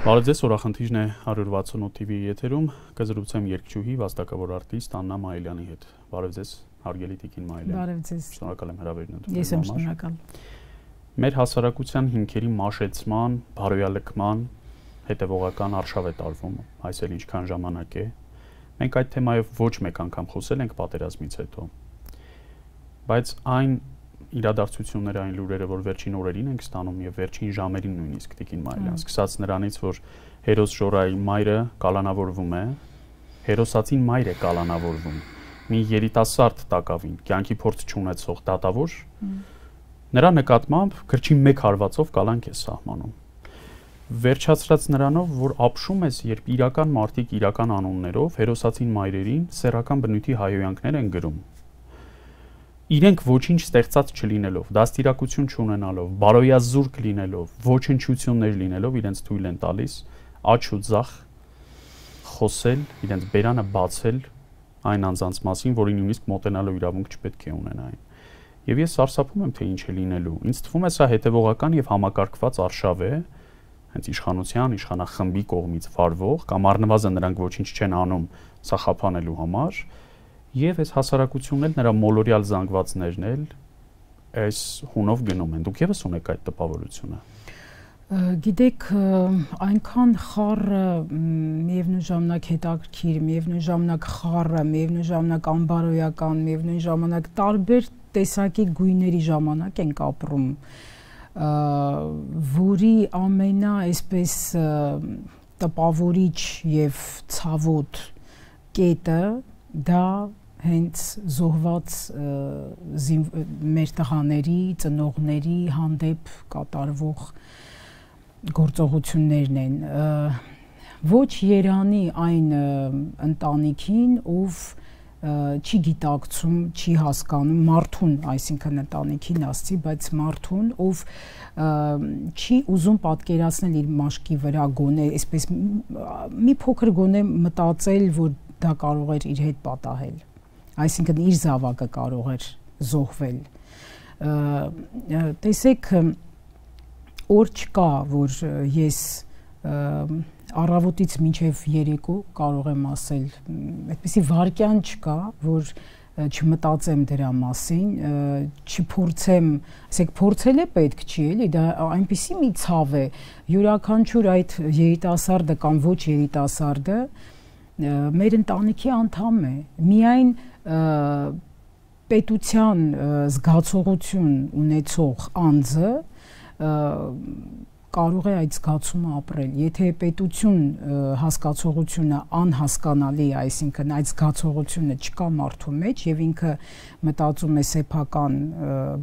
Բարև ձեզ, օրախնդիրն է 168 TV եթերում, կզրուցեմ երգչուհի, վաստակավոր արտիստ Աննա Մայիլյանի հետ։ Բարև ձեզ, հարգելի Տիկին Մայիլյան։ Բարև ձեզ։ Շնորհակալ եմ հրավերն ընդունելու համար։ Ես եմ շնորհակալ։ Մեր հասարակության հիմքերի մաշեցման, բարոյալքման հետևողական արշավ է տարվում, այս էլ ինչքան ժամանակ է։ Մենք այդ թեմայով ոչ մեկ անգամ խոսել ենք պատերազմից հետո։ Բայց այն իրադարձությունները, այն լուրերը, որ վերջին օրերին ենք ստանում եւ վերջին ժամերին նույնիսկ Տիկին Մայիլյան, սկսած նրանից, որ հերոս Ժորայի մայրը կալանավորվում է, հերոսացին մայր է կալանավորվում, մի երիտասարդ տակավին, կյանքի փորձ չունեցող դատավոր, նրա նկատմամբ գրչի մեկ հարվածով կալանք է սահմանում։ Վերջացրած նրանով, որ ապշում ես, երբ իրական մարդիկ իրական անուններով հերոսացին մայրերին սեռական բնույթի հայհոյանքներ են գրում։ Իրենք ոչինչ ստեղծած չլինելով, դաստիարակություն չունենալով, բարոյազուրկ լինելով, ոչնչություններ լինելով, իրենց թույլ են տալիս աջ ու ձախ խոսել, իրենց բերանը բացել այն անձանց մասին, որին նույնիսկ մոտենալու իրավունք չպետք է ունենային։ Եվ ես սարսափում եմ, թե ինչ է լինելու։ Ինձ թվում է սա հետևողական եւ համակարգված արշավ է, հենց իշխանության, իշխանախմբի կողմից վարվող, կամ առնվազն նրանք ոչինչ չեն անում սա խափանելու համար։ Եվ այս հասարակությունն էլ նրա մոլորյալ զանգվածներն էլ այս հունով գնում են։ Դուք եւս ունեք այդ տպավորությունը։ Գիտեք, այնքան խառը, միևնույն ժամանակ հետաքրքիր, միևնույն ժամանակ խառը, միևնույն ժամանակ անբարոյական, միևնույն ժամանակ տարբեր տեսակի գույների ժամանակ ենք ապրում, որի ամենա այսպես տպավորիչ եւ ցավոտ կետը դա հենց զոհված մեր տղաների, ծնողների հանդեպ կատարվող գործողություններն են։ Ոչ երանի այն ընտանիքին, ով չի գիտակցում, չի հասկանում մարդուն, այսինքն ընտանիքին ասցի, բայց մարդուն, ով չի ուզում պատկերացնել իր մաշկի վրա գոնե, այսպես մի փոքր գոնե մտածել, որ դա կարող էր իր հետ պատահել, այսինքն իր զավակը կարող էր զոհվել։ Տեսեք, օր չկա, որ ես առավոտից մինչև երեկո կարող եմ ասել, այդպիսի վայրկյան չկա, որ չմտածեմ դրա մասին, չփորձեմ, ասեք փորձել է պետք չի էլի, դա այնպիսի մի ցավ է, յուրաքանչյուր այդ երիտասարդը կամ ոչ երիտասարդը մեր ընտանիքի անդամ է, միայն պետության զգացողություն ունեցող անձը կարող է այդ զգացումը ապրել, եթե պետություն հասկացողությունը անհասկանալի, այսինքն այդ զգացողությունը չկա մարդու մեջ եւ ինքը մտածում է սեփական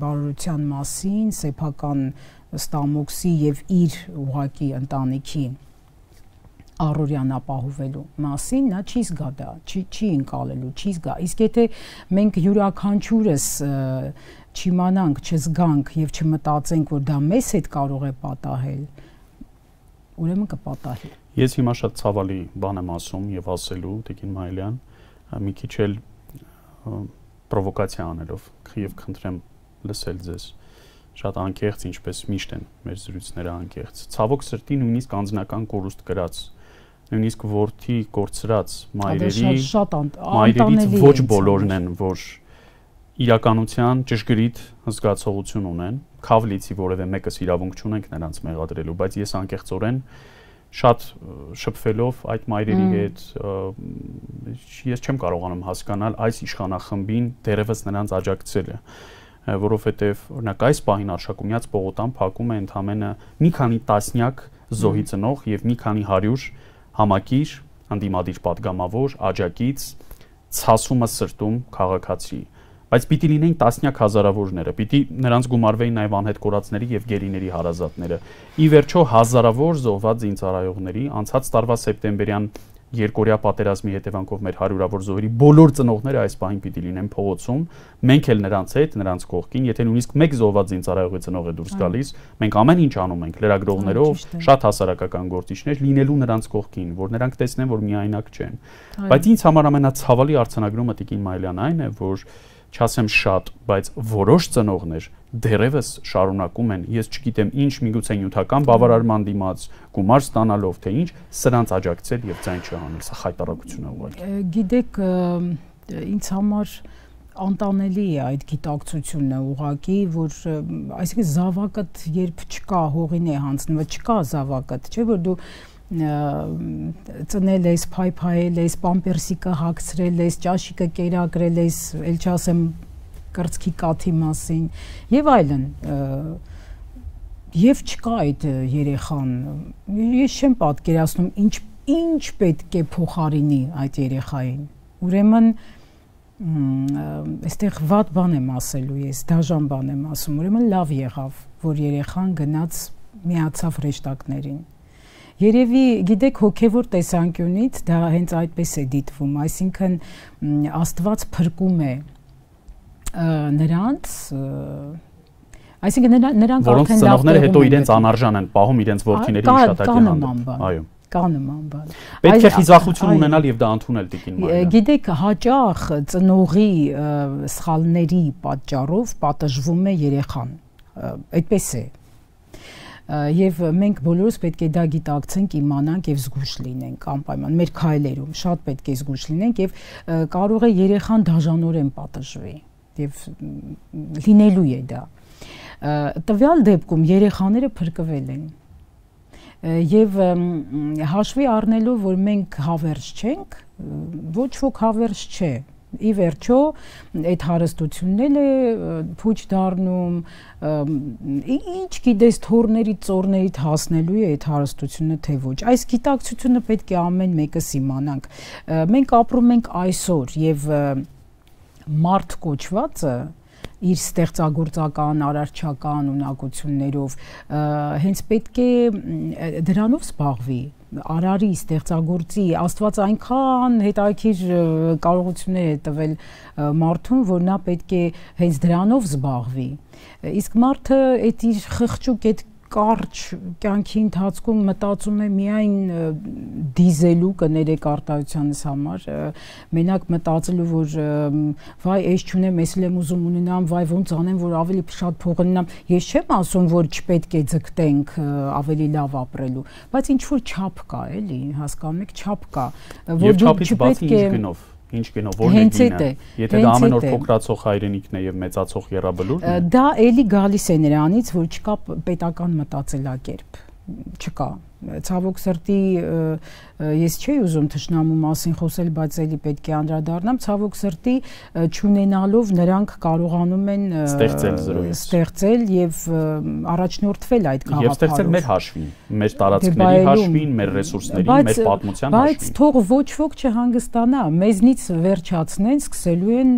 բարօրության մասին, սեփական ստամոքսի եւ իր ուղակի ընտանիքի առօրյան ապահովելու մասին, նա չի զգա դա, չի ընկալելու, չի զգա։ Իսկ եթե մենք յուրաքանչյուրս չիմանանք, չզգանք եւ չմտածենք, որ դա մեզ հետ կարող է պատահել, ուրեմն կպատահի։ Ես հիմա շատ ցավալի բան եմ ասում եւ ասելու, Տիկին Մայիլյան, մի քիչ էլ պրովոկացիա անելով, եւ խնդրեմ լսել ձեզ։ Շատ անկեղծ, ինչպես միշտ են մեր զրույցները անկեղծ։ Ցավոք սրտի նույնիսկ անձնական կորուստ կրած, նույնիսկ որդի կորցրած մայրերից ոչ բոլորն են, որ իրականության ճշգրիտ զգացողություն ունեն, քավլիցի որևէ մեկս իրավունք չունենք նրանց մեղադրելու, բայց ես անկեղծորեն շատ շփվելով այդ մայրերի հետ, ես չեմ կարողանում հասկանալ այս իշխանախմբին դերևս նրանց աջակցելը, որովհետև օրինակ այս պահին Արշակունյաց պողոտան փակում է ընդամենը մի քանի տասնյակ զոհի ծնող եւ մի քանի 100 համակիր, անդիմադիր պատգամավոր, աջակից, ցասումը սրտում քաղաքացի, բայց պիտի լինեին տասնյակ հազարավորները, պիտի նրանց գումարվեին նաև անհետ կորածների եւ գերիների հարազատները։ Ի վերջո հազարավոր զոհված զինծառայողների անցած տարվա սեպտեմբերյան երկօրյա պատերազմի հետևանքով մեր հարյուրավոր զոհերի բոլոր ծնողները այս պահին պիտի լինեն փողոցում, մենք էլ նրանց հետ, նրանց կողքին, եթե նույնիսկ մեկ զոհված զինծառայողի ծնող է դուրս գալիս, մենք ամեն ինչ անում ենք լրագրողներով, շատ հասարակական գործիչներ լինելու նրանց կողքին, որ նրանք տեսնեն, որ միայնակ չեն։ Բայց ինձ համար ամենացավալի արձանագրումը Տիկին Մայիլյան այն է, որ չասեմ շատ, բայց որոշ ծնողներ դերևս շարունակում են, ես չգիտեմ ինչ, միգուցե նյութական բավարարման դիմաց, գումար ստանալով, թե ինչ, սրանց աջակցել եւ ձայն չհանել, սա խայտարակություն է ուղղակի։ Գիտեք, ինձ համար անտանելի է այդ գիտակցությունը ուղղակի, որ այսինքն զավակդ երբ չկա, հողին է հանձնված, չկա զավակդ, չէ՞ որ դու ծնել ես, փայփայել ես, պամպերսիկը հագցրել ես, ճաշիկը կերակրել ես, ել չասեմ կրծքի կաթի մասին եւ այլն, եւ չկա այդ երեխան, ես չեմ պատկերացնում ինչ պետք է փոխարինի այդ երեխային, ուրեմն այստեղ վատ բան եմ ասելու ես, դաժան բան եմ ասում, ուրեմն լավ եղավ, որ երեխան գնաց միացավ հրեշտակներին։ Երևի գիտեք հոգևոր տեսանկյունից դա հենց այդպես է դիտվում, այսինքն Աստված փրկում է նրանց, այսինքն նրանք որոնց ծնողները հետո իրենց անարժան են պահում իրենց որդիների հիշատակի հանդեպ։ Այո։ Կա նման բան։ Պետք է խիզախություն ունենալ եւ դա ընդունել տիկին Մարիան։ Գիտեք, հաճախ ծնողի սխալների պատճառով պատժվում է երեխան։ Այդպես է։ Եվ մենք բոլորս պետք է դա գիտակցենք, իմանանք եւ զգույշ լինենք անպայման մեր քայլերում, շատ պետք է զգույշ լինենք եւ կարող է երեխան դաժանորեն պատժվի եւ լինելու է դա։ Տվյալ դեպքում երեխաները փրկվել են։ Եվ հաշվի առնելով, որ մենք հավերժ չենք, ոչ ոք հավերժ չէ։ Ի վերջո այդ հարստությունն է փուչ դառնում, ինչ գիտես թորների ծորներից հասնելու է այդ հարստությունը թե ոչ։ Այս գիտակցությունը պետք է ամեն մեկս իմանանք։ Մենք ապրում ենք այսօր եւ մարդ կոչվածը իր ստեղծագործական, արարչական ունակություններով հենց պետք է դրանով զբաղվի, արարի, ստեղծագործի, Աստված այնքան հետաքրքիր կարողություններ է տվել մարդուն, որ նա պետք է հենց դրանով զբաղվի։ Իսկ մարդը այդ իր խղճուկ այդ կարճ կյանքի ընթացքում մտածում է միայն դիզելու կներեք արտահայտությանս համար, մենակ մտածելու, որ վայ, ես չունեմ, ես էլ եմ ուզում ունենամ, վայ, ոնց անեմ, որ ավելի շատ փող ունենամ։ Ես չեմ ասում, որ չպետք է ձգտենք ավելի լավ ապրելու, բայց ինչ որ չափ կա, էլի, հասկանում եք, չափ կա, որ դու չպետք է Ինչ գնով, որն է գինը, եթե դա ամեն օր փոքրացող հայրենիքն է եւ մեծացող եռաբլուրն է։ Դա էլի գալիս է նրանից, որ չկա պետական մտածելակերպ, չկա։ Ցավոք սրտի ես չէի ուզում թշնամու մասին խոսել, բայց էլի պետք է անդրադառնամ, ցավոք սրտի չունենալով նրանք կարողանում են ստեղծել եւ առաջնորդվել այդ գաղափարով։ Եվ ստեղծել մեր հաշվին, մեր տարածքների հաշվին, մեր ռեսուրսների, մեր պատմության հաշվին։ Բայց թող ոչ ոք չհանգստանա, մեզնից վերջացնեն, սկսելու են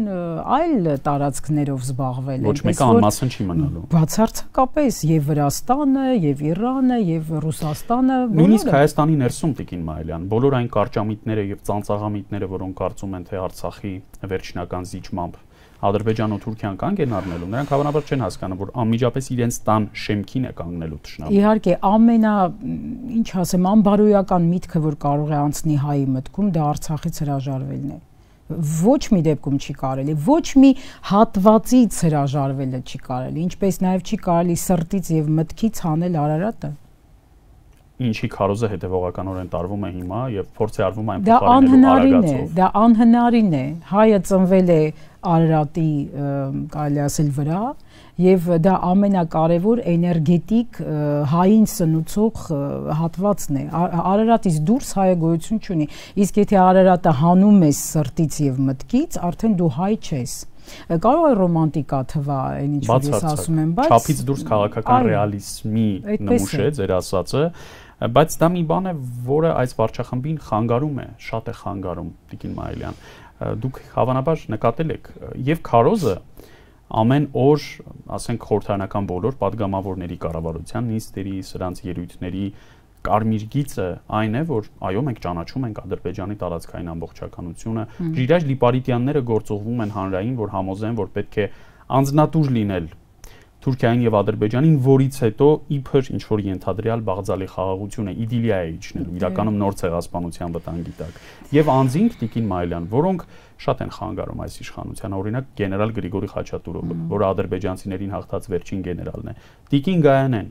այլ տարածքներով զբաղվել։ Ոչ մեկը անմասն չի մնալու։ Բացարձակապես եւ Վրաստանը, եւ Իրանը, եւ Ռուսաստանը Նույնիսկ Հայաստանի ներսում տիկին Մայլյան, բոլոր այն կարճամիտները եւ ծանծաղամիտները, որոնք կարծում են թե Արցախի վերջնական զիջմամբ Ադրբեջանը ու Թուրքիան կանգ են առնելու, նրանք հավանաբար չեն հասկանում, որ անմիջապես իրենց տան շեմքին է կանգնելու թշնամուն։ Իհարկե, ինչ ասեմ, անբարոյական միտքը, որ կարող է անցնի հայի մտքում, դա Արցախից հրաժարվելն է։ Ոչ մի դեպքում չի կարելի, ոչ մի հատվածից հրաժարվելը չի կարելի, ինչպես նաեւ չի կարելի սրտից եւ մտքից հանել Արարատը։ Ինչի քարոզը հետևողականորեն տարվում է հիմա եւ փորձ է արվում այն փոխարինելու արագացով։ Դա անհնարին է։ Հայը ծնվել է Արարատի, կարելի ասել, վրա եւ դա ամենակարևոր էներգետիկ հային սնուցող հատվածն է։ Արարատից դուրս հայը գոյություն չունի։ Իսկ եթե Արարատը հանում ես սրտից եւ մտքից, արդեն դու հայ չես։ Կարող է ռոմանտիկա թվա, այն ինչ որ ես ասում եմ, բայց չափից դուրս քաղաքական ռեալիզմի նմուշ է ձեր ասածը, բայց դա մի բան է, որը այս վարչախմբին խանգարում է, շատ է խանգարում, տիկին Մայլյան։ Դուք հավանաբար նկատել եք, եւ քարոզը ամեն օր, ասենք խորհրդարանական բոլոր падգամավորների կառավարության նիստերի, սրանց ելույթների կարմիր գիծը այն է, որ այո, մենք ճանաչում ենք Ադրբեջանի տարածքային ամբողջականությունը, Ժիրայր Լիպարիտյանները գործողվում են հանրային, որ համոզեն, որ պետք է անձնատուր լինել Թուրքիային եւ Ադրբեջանին, որից հետո իբր ինչ որ ենթադրյալ բաղձալի խաղաղությունը իդիլիա է իջնելու, իրականում նոր ցեղասպանության վտանգի տակ։ Եվ անձինք Տիկին Մայլյան, որոնք շատ են խանգարում այս իշխանության, օրինակ գեներալ Գրիգորի Խաչատուրովը, որը ադրբեջանցիներին հաղթած վերջին գեներալն է, Տիկին Գայանեն,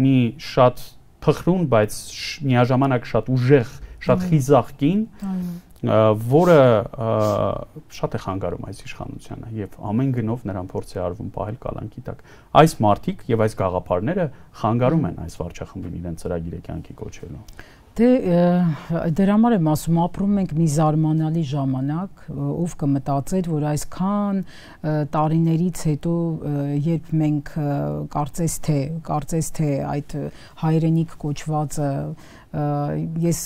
մի շատ փխրուն, բայց միաժամանակ շատ ուժեղ, շատ խիզախ կին, որը շատ է խանգարում այս իշխանությանը եւ ամեն գնով նրան փորձ է արվում պահել կալանքի տակ։ Այս մարտիկ եւ այս գաղափարները խանգարում են այս վարչախմբին իրենց ծրագիրը կյանքի կոչելու։ Դե դրա համար եմ ասում, ապրում ենք մի զարմանալի ժամանակ, ով կմտածեր, որ այսքան տարիներից հետո, երբ մենք կարծես թե այդ հայրենիք կոչվածը ես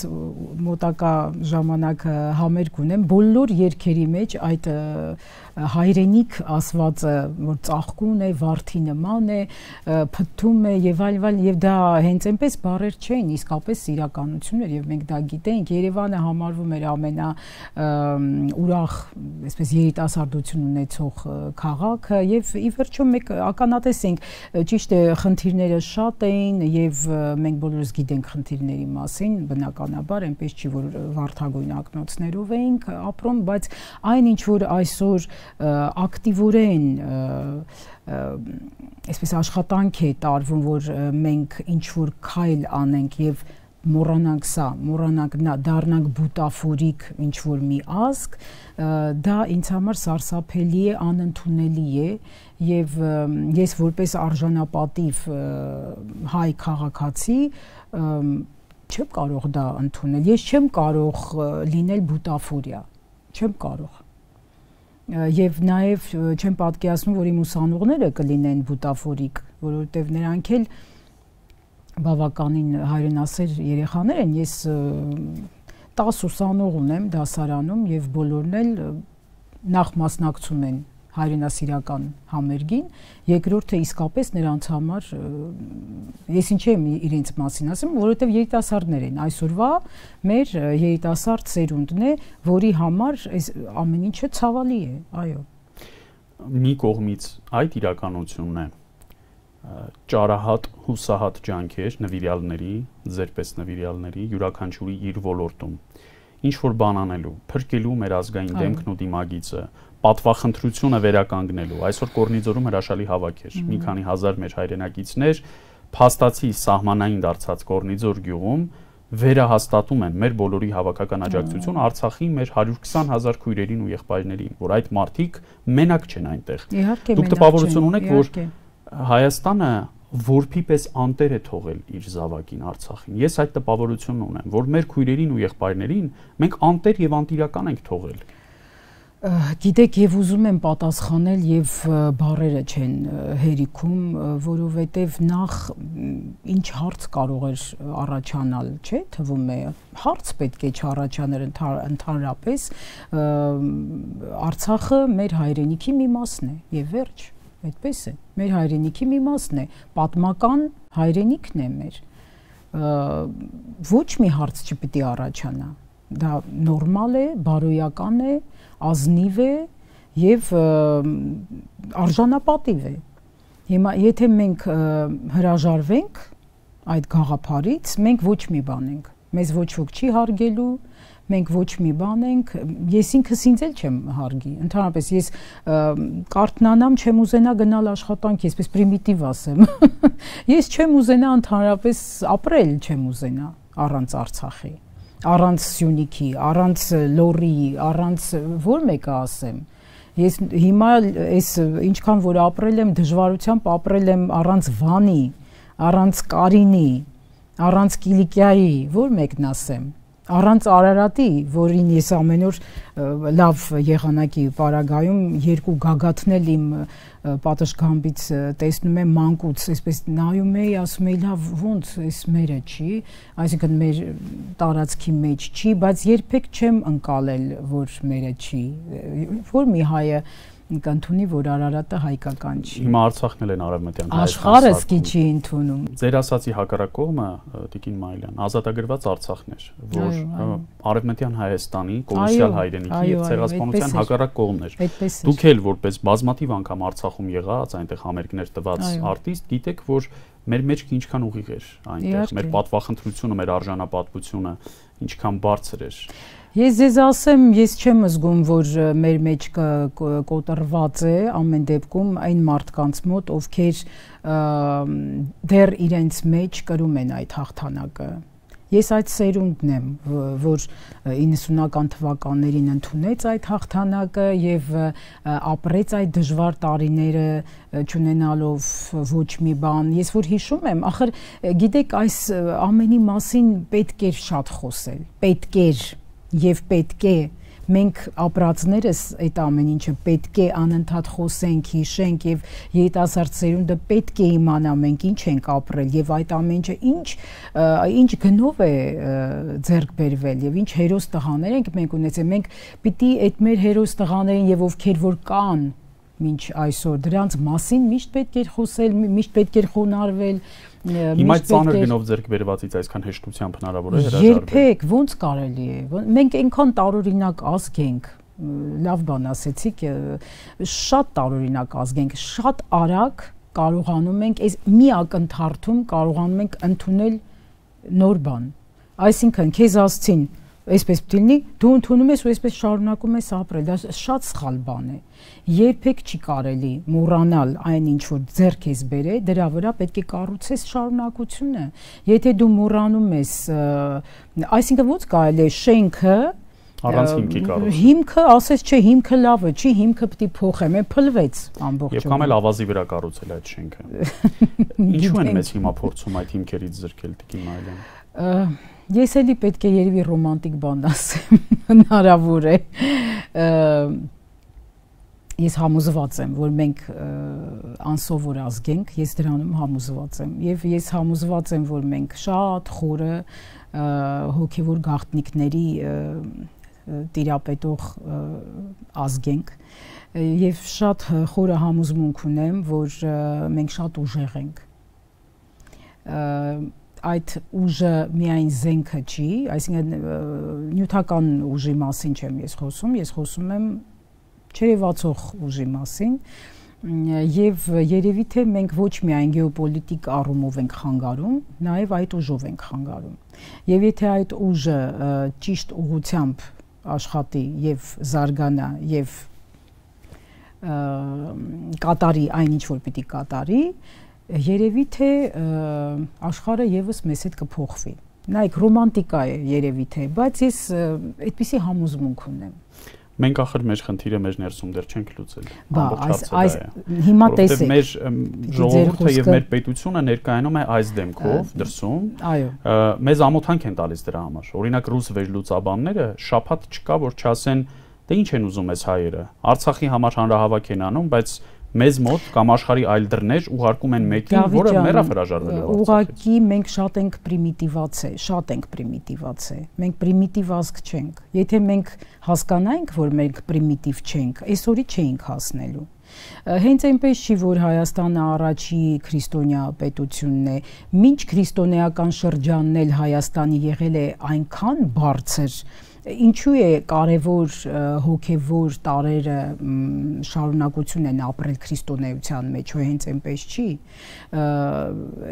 մոտակա ժամանակ համերգ ունեմ, բոլոր երգերի մեջ այդ հայրենիք ասվածը, որ ծաղկուն է, վարդի նման է, փթթում է եւ այլ եւ դա հենց այնպես բառեր չէին, իսկապես իրականություն էր եւ մենք դա գիտենք։ Երևանը համարվում էր ամենա ուրախ, այսպես երիտասարդություն ունեցող քաղաքը եւ ի վերջո մենք ականատես ենք, ճիշտ է, խնդիրները շատ էին եւ մենք բոլորս գիտենք խնդիրների մասին, բնականաբար, այնպես չի որ վարդագույն ակնոցներով էինք ապրում, բայց այն ինչ որ այսօր ակտիվորեն այսպես աշխատանք է տարվում, որ մենք ինչ որ քայլ անենք եւ մոռանանք դառնանք բուտաֆորիկ ինչ որ մի ազգ, դա ինձ համար սարսափելի է, անընդունելի է եւ ես որպես արժանապատիվ հայ քաղաքացի չեմ կարող դա ընդունել, ես չեմ կարող լինել բուտաֆորիա, չեմ կարող եւ նաեւ չեմ պատկերացնում, որ իմ ուսանողները կլինեն բուտաֆորիկ, որովհետեւ նրանք էլ բավականին հայրենասեր երեխաներ են, ես 10 ուսանող ունեմ դասարանում եւ բոլորն էլ նախ մասնակցում են հայրենասիրական համերգին, երկրորդը իսկապես նրանց համար ես ինչ եմ իրենց մասին ասում, որովհետև երիտասարդներ են, այսօրվա մեր երիտասարդ սերունդն է, որի համար այս ամեն ինչը ցավալի է, այո։ Մի կողմից այդ իրականությունն է, ճարահատ, հուսահատ ջանքեր նվիրյալների, ձերպես նվիրյալների, յուրաքանչյուրի իր ոլորտում, ինչ որ բան անելու, փրկելու մեր ազգային դեմքն ու դիմագիծը, պատվախնդրությունը վերականգնելու, այսօր Կորնիձորում հրաշալի հավաք էր, մի քանի հազար մեր հայրենակիցներ փաստացի սահմանային դարձած Կորնիձոր գյուղում վերահաստատում են մեր բոլորի հավաքական աջակցությունը Արցախի մեր 120,000 քույրերին ու եղբայրներին, որ այդ մարդիկ մենակ չեն այնտեղ։ Դուք տպավորություն ունեք, որ Հայաստանը որփի պես անտեր է թողել իր զավակին Արցախին։ Ես այդ տպավորությունն ունեմ, որ մեր քույրերին ու եղբայրներին մենք անտեր եւ անտիրական ենք թողել։ Գիտեք, եւ ուզում եմ պատասխանել եւ բառերը չեն հերիքում, որովհետեւ նախ ինչ հարց կարող էր առաջանալ, չէ՞, թվում է, հարց պետք է չառաջանար ընդհանրապես, Արցախը մեր հայրենիքի մի մասն է եւ վերջ, այդպես է, մեր հայրենիքի մի մասն է, պատմական հայրենիքն է մեր, ոչ մի հարց չպետք է առաջանա, դա նորմալ է, բարոյական է, ազնիվ է եւ արժանապատիվ է։ Հիմա եթե մենք հրաժարվենք այդ գաղափարից, մենք ոչ մի բան ենք։ Մեզ ոչ ոք չի հարգելու, մենք ոչ մի բան ենք, ես ինքս ինձ էլ չեմ հարգի։ Ընդհանրապես ես կարթնանամ, չեմ ուզենա գնալ աշխատանքի, այսպես պրիմիտիվ ասեմ։ Ես չեմ ուզենա ընդհանրապես ապրել, չեմ ուզենա առանց Արցախի, առանց Սյունիքի, առանց Լոռի, առանց որ մեկը ասեմ։ Ես հիմա այս ինչքան որ ապրել եմ, դժվարությամբ ապրել եմ առանց Վանի, առանց Կարինի, առանց Կիլիկիայի, որ մեկն ասեմ, առանց Արարատի, որին ես ամեն օր լավ եղանակի պարագայում երկու գագաթնել իմ պատշգամբից տեսնում եմ մանկուց, այսպես նայում էի, ասում էի լավ ոնց էս մերը չի, այսինքն մեր տարածքի մեջ չի, բայց երբեք չեմ ընկալել, որ մերը չի, որ մի հայը կընդունի, որ Արարատը հայկական չի։ Հիմա Արցախն էլ են արևմտյան Աշխարհը սկի չի ընդունում։ Ձեր ասացի հակառակ կողմը Տիկին Մայլյան, ազատագրված Արցախն էր, որ արևմտյան Հայաստանի կոլոսիալ հայրենիքի եւ ցեղասպանության հակառակ կողմն էր։ Դուք էլ որպես բազմաթիվ անգամ Արցախում եղած, այնտեղ համերգներ տված արտիստ, գիտեք, որ մեր մեջքը ինչքան ուղիղ էր այնտեղ, մեր պատվախնդրությունը, մեր արժանապատվությունը ինչքան բարձր էր։ Ես ձեզ ասեմ, ես չեմ զգում, որ մեր մեջ կոտրված է ամեն դեպքում այն մարդկանց մոտ, ովքեր դեռ իրենց մեջ կրում են այդ հաղթանակը։ Ես այդ սերունդն եմ, որ 90-ական թվականներին ընդունեց այդ հաղթանակը եւ ապրեց այդ դժվար տարիները չունենալով ոչ մի բան։ Ես որ հիշում եմ, ախր գիտեք, այս ամենի մասին պետք էր շատ խոսել, պետք էր եւ պետք է մենք ապրածներս այդ ամեն ինչը պետք է անընդհատ խոսենք, հիշենք եւ երիտասարդ սերունդը պետք է իմանա մենք ինչ ենք ապրել եւ այդ ամեն ինչը ինչ գնով է ձեռք բերվել եւ ինչ հերոս տղաներ ենք մենք ունեցել։ Մենք պիտի այդ մեր հերոս տղաներին եւ ովքեր որ կան մինչ այսօր դրանց մասին միշտ պետք է խոսել, միշտ պետք է խոնարհվել։ Հիմա ծանր գնով ձեռք բերվածից այսքան հեշտությամբ հնարավոր է հրաժարվել։ Երբեք ոնց կարելի է։ Մենք այնքան տարօրինակ ազգ ենք, լավ բան ասեցիք, շատ տարօրինակ ազգ ենք, շատ արագ կարողանում ենք այս մի ակնթարթում կարողանում ենք ընդունել նոր բան։ Այսինքն քեզ ասցին այսպես պետք լինի, դու ընդունում ես ու այսպես շարունակում ես ապրել, դա շատ սխալ բան է։ Երբեք չի կարելի մոռանալ այն ինչ որ ձեռք ես բերել, դրա վրա պետք է կառուցես շարունակությունը։ Եթե դու մոռանում ես, այսինքն ոնց կարելի է շենքը առանց հիմքի կառուցել։ Հիմքը, ասես չէ, հիմքը լավը չի, հիմքը պետք է փոխեմ, փլվեց ամբողջովին։ Եվ կամ էլ ավազի վրա կառուցել այդ շենքը։ Ինչու են մեզ հիմա փորձում այդ հիմքերից զրկել, Տիկին Մայլյան։ Ես էլի պետք է երևի ռոմանտիկ բան ասեմ, հնարավոր է։ Ես համոզված եմ, որ մենք անսովոր ազգ ենք, ես դրանում համոզված եմ, եւ ես համոզված եմ, որ մենք շատ խորը հոգեվոր գաղտնիքների տիրապետող ազգ ենք, եւ շատ խորը համոզմունք ունեմ, որ մենք շատ ուժեղ ենք։ Այդ ուժը միայն զենքը չի, այսինքն նյութական ուժի մասին չեմ ես խոսում եմ չերևացող ուժի մասին եւ երևի թե մենք ոչ միայն գեոպոլիտիկ առումով ենք խանգարում, նաեւ այդ ուժով ենք խանգարում։ Եվ եթե այդ ուժը ճիշտ ուղղությամբ աշխատի եւ զարգանա եւ կատարի այն ինչ որ պիտի կատարի, երևի թե աշխարհը եւս մեզ հետ կփոխվի։ Նայեք, ռոմանտիկա է երևի թե, բայց ես այդպիսի համոզմունք ունեմ։ Մենք ախր մեր խնդիրը մեր ներսում դեռ չենք լուծել։ Այս հիմա տեսեք։ Մեր ժողովուրդը եւ մեր պետությունը ներկայանում է այս դեմքով դրսում։ Այո։ Մեզ ամոթանք են տալիս դրա համար։ Օրինակ ռուս վերլուծաբանները շաբաթ չկա որ չասեն, դե ինչ են ուզում այս հայերը։ Արցախի համար հանրահավաք են անում, բայց մեզ մոտ կամ աշխարհի այլ դռներ ուղարկում են մեկին, որը մեռավ հրաժարվել է։ Ուղղակի մենք շատ ենք պրիմիտիվացել։ Մենք պրիմիտիվ ազգ չենք։ Եթե մենք հասկանայինք, որ մենք պրիմիտիվ չենք, այսօրի չէինք հասնելու։ Հենց այնպես չի, որ Հայաստանը առաջի քրիստոնյա պետությունն է։ Մինչ քրիստոնեական շրջանն էլ Հայաստանի եղել է այնքան բարձր, ինչու է կարևոր հոգևոր տարերը շարունակություն են ապրել քրիստոնեության մեջ, ու հենց այնպես չի։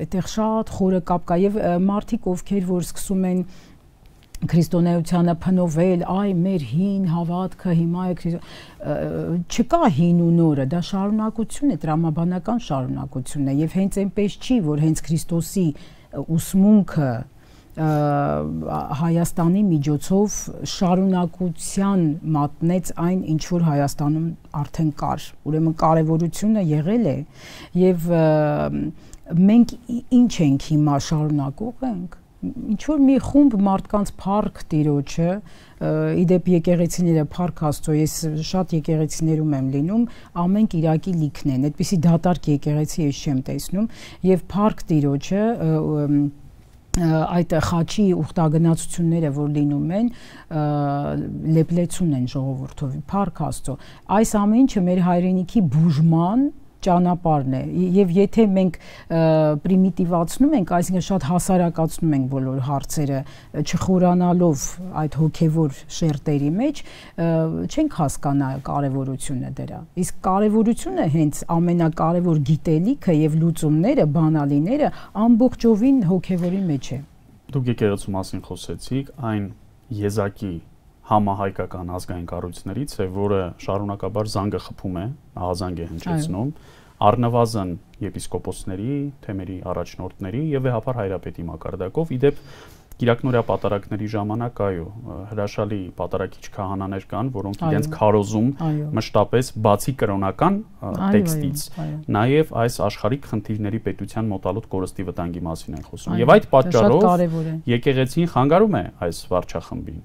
Այդտեղ շատ խորը կապ կա եւ մարդիկ, ովքեր որ սկսում են քրիստոնեությանը փնովել, այ մեր հին հավատքը հիմա է չկա հին ու նորը, դա շարունակություն է, տրամաբանական շարունակություն է եւ հենց այնպես չի, որ հենց Քրիստոսի ուսմունքը Հայաստանի միջոցով շարունակության մատնեց այն ինչ որ Հայաստանում արդեն կար, ուրեմն կարևորությունը եղել է եւ մենք ինչ ենք հիմա շարունակող ենք, ինչ որ մի խումբ մարդկանց փառք Տիրոջը, իդեպ եկեղեցիները փառք Աստծո, ես շատ եկեղեցիներում եմ լինում, ամեն Կիրակի լիքն են, այդպիսի դատարկ եկեղեցի ես չեմ տեսնում եւ փառք Տիրոջը այդ խաչի ուխտագնացությունները, որ լինում են, լեփլեցուն են ժողովրդով, փառք Աստծո։ Այս ամեն ինչը մեր հայրենիքի բուժման ճանապարհն է, եւ եթե մենք պրիմիտիվացնում ենք, այսինքն շատ հասարակացնում ենք բոլոր հարցերը, չխորանալով այդ հոգեվոր շերտերի մեջ, չենք հասկանա կարևորությունը դրա։ Իսկ կարևորությունը հենց ամենակարևոր գիտելիքը եւ լուծումները, բանալիները ամբողջովին հոգեվորի մեջ է։ Դուք եկեղեցու մասին խոսեցիք, այն եզակի համահայկական ազգային կառույցներից է, որը շարունակաբար զանգը խփում է, ահազանգ է հնչեցնում, առնվազն եպիսկոպոսների, թեմերի առաջնորդների եւ վեհապար հայրապետի մակարդակով, իդեպ Կիրակնորյա պատարակների ժամանակ հրաշալի պատարակիչ քահանաներ կան, որոնք իրենց քարոզում մշտապես բացի կրոնական տեքստից, նաեւ այս աշխարհիկ խնդիրների պետության մոտալուտ կորստի վտանգի մասին են խոսում։ Եվ այդ պատճառով եկեղեցին խանգարում է այս վարչախմբին։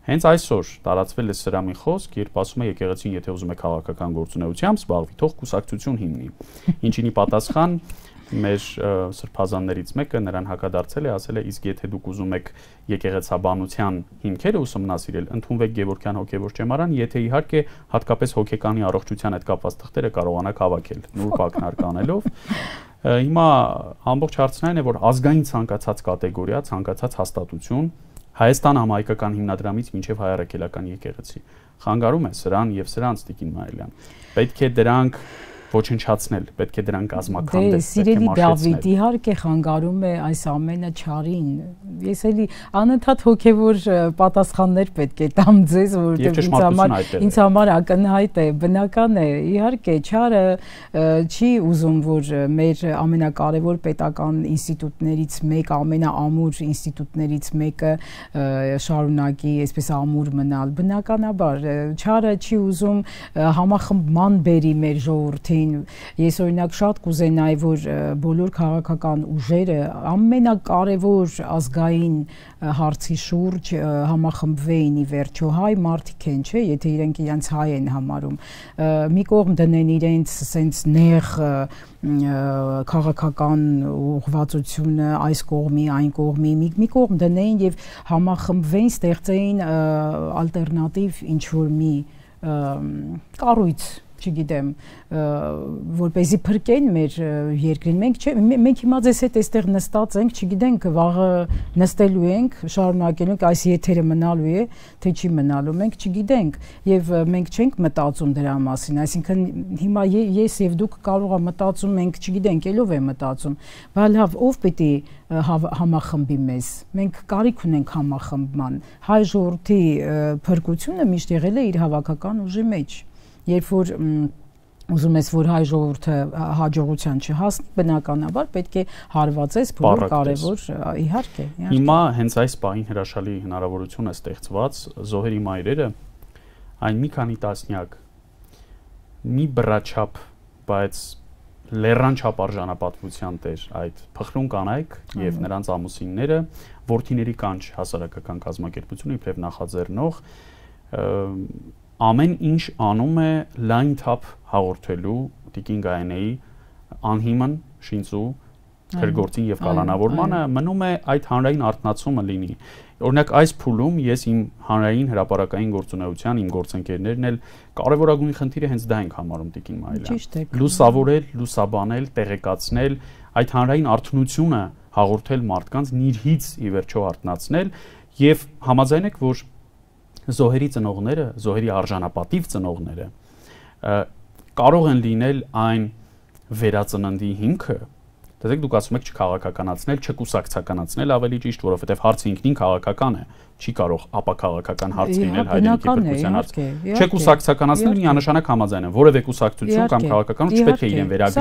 Հենց այսօր տարածվել է սրամի խոսք, երբ ասում է եկեղեցին, եթե ուզում է քաղաքական գործունեությամբ զբաղվի, թող կուսակցություն հիմնի։ Ինչինի պատասխան մեր սրբազաններից մեկը նրան հակադարձել է, ասել է, իսկ եթե դուք ուզում եք եկեղեցաբանության հիմքերը ուսումնասիրել, ընդունվեք Գևորգյան հոգևոր ճեմարան, եթե իհարկե հատկապես հոգեկանի առողջության հետ կապված թղթերը կարողանաք հավաքել նուրբ ակնարկ անելով։ Հիմա ամբողջ հարցն այն է, որ ազգային ցանկացած կատեգորիա, ցանկացած հաստատություն Հայաստան համահայկական հիմնադրամից մինչև հայ առաքելական եկեղեցի խանգարում է սրան եւ սրանց Տիկին Մայիլյան։ Պետք է դրանք ոչնչացնել, պետք է դրանք կազմաքանդել։ Սիրելի Դավիթ, իհարկե խանգարում է այս ամենը չարին։ Ես էլի անընդհատ հոգևոր պատասխաններ պետք է տամ ձեզ, որովհետև ինձ համար ակնհայտ է, բնական է։ Իհարկե չարը չի ուզում, որ մեր ամենակարևոր պետական ինստիտուտներից մեկը, ամենաամուր ինստիտուտներից մեկը շարունակի այսպես ամուր մնալ։ Բնականաբար չարը չի ուզում համախմբման բերի մեր ժողովրդին։ Ես օրինակ շատ կուզենայի, որ բոլոր քաղաքական ուժերը ամենակարևոր ազգային հարցի շուրջ համախմբվեին ի վերջո հայ մարդիկ են, չէ, եթե իրենք իրենց հայ են համարում, մի կողմ դնեն իրենց սենց նեղ քաղաքական ուղղվածությունը այս կողմի, այն կողմի, մի կողմ դնեին եւ համախմբվեին, ստեղծեին ալտերնատիվ ինչ որ մի կառույց, չգիտեմ, որպեսզի փրկեն մեր երկրին։ Մենք հիմա ձեզ հետ այստեղ նստած ենք, չգիտենք վաղը նստելու ենք, շարունակելու ենք, այս եթերը մնալու է, թե չի մնալու, մենք չգիտենք եւ մենք չենք մտածում դրա մասին, այսինքն հիմա ես եւ դուք կարող եք մտածում, մենք չգիտենք, ելով է մտածում, բայց լավ, ով պիտի համախմբի մեզ։ Մենք կարիք ունենք համախմբման։ Հայ ժողովրդի փրկությունը միշտ եղել է իր հավաքական ուժի մեջ։ Երբ որ ուզում ես, որ հայ ժողովուրդը հաջողության չհասնի, բնականաբար պետք է հարվածես բոլոր կարևոր, իհարկե։ Հիմա հենց այս պահին հրաշալի հնարավորություն է ստեղծված զոհերի մայրերը այն մի քանի տասնյակ մի բռաչափ, բայց լեռնչափ արժանապատվության տեր այդ փխրուն կանայք եւ նրանց ամուսինները, որդիների կանչ հասարակական կազմակերպությունը իբրև նախաձեռնող ամեն ինչ անում է լայն թափ հաղորդելու Տիկին Գայանեի անհիմն շինծու քրգործին եւ կալանավորմանը, մնում է այդ հանրային արտնացումը լինի։ Օրինակ այս փուլում ես իմ հանրային հրապարակային գործունեության, իմ գործընկերներն էլ կարևորագույն խնդիրը հենց դա ենք համարում Տիկին Մայիլյան։ Լուսավորել, լուսաբանել, տեղեկացնել, այդ հանրային արթնությունը հաղորդել մարդկանց, նիրհից ի վերջո արթնացնել եւ համաձայն եք, որ զոհերի ծնողները, զոհերի արժանապատիվ ծնողները կարող են լինել այն վերածննդի հիմքը, դեպի դուք ասում եք չքաղաքականացնել, չկուսակցականացնել ավելի ճիշտ, որովհետև հարցը ինքնին քաղաքական է, չի կարող ապաքաղաքական հարց լինել հայրենիքի փրկության հարց։ Չկուսակցականացնել միանշանակ համաձայն են, որևէ կուսակցություն կամ քաղաքականություն չպետք է իրեն վերագրի,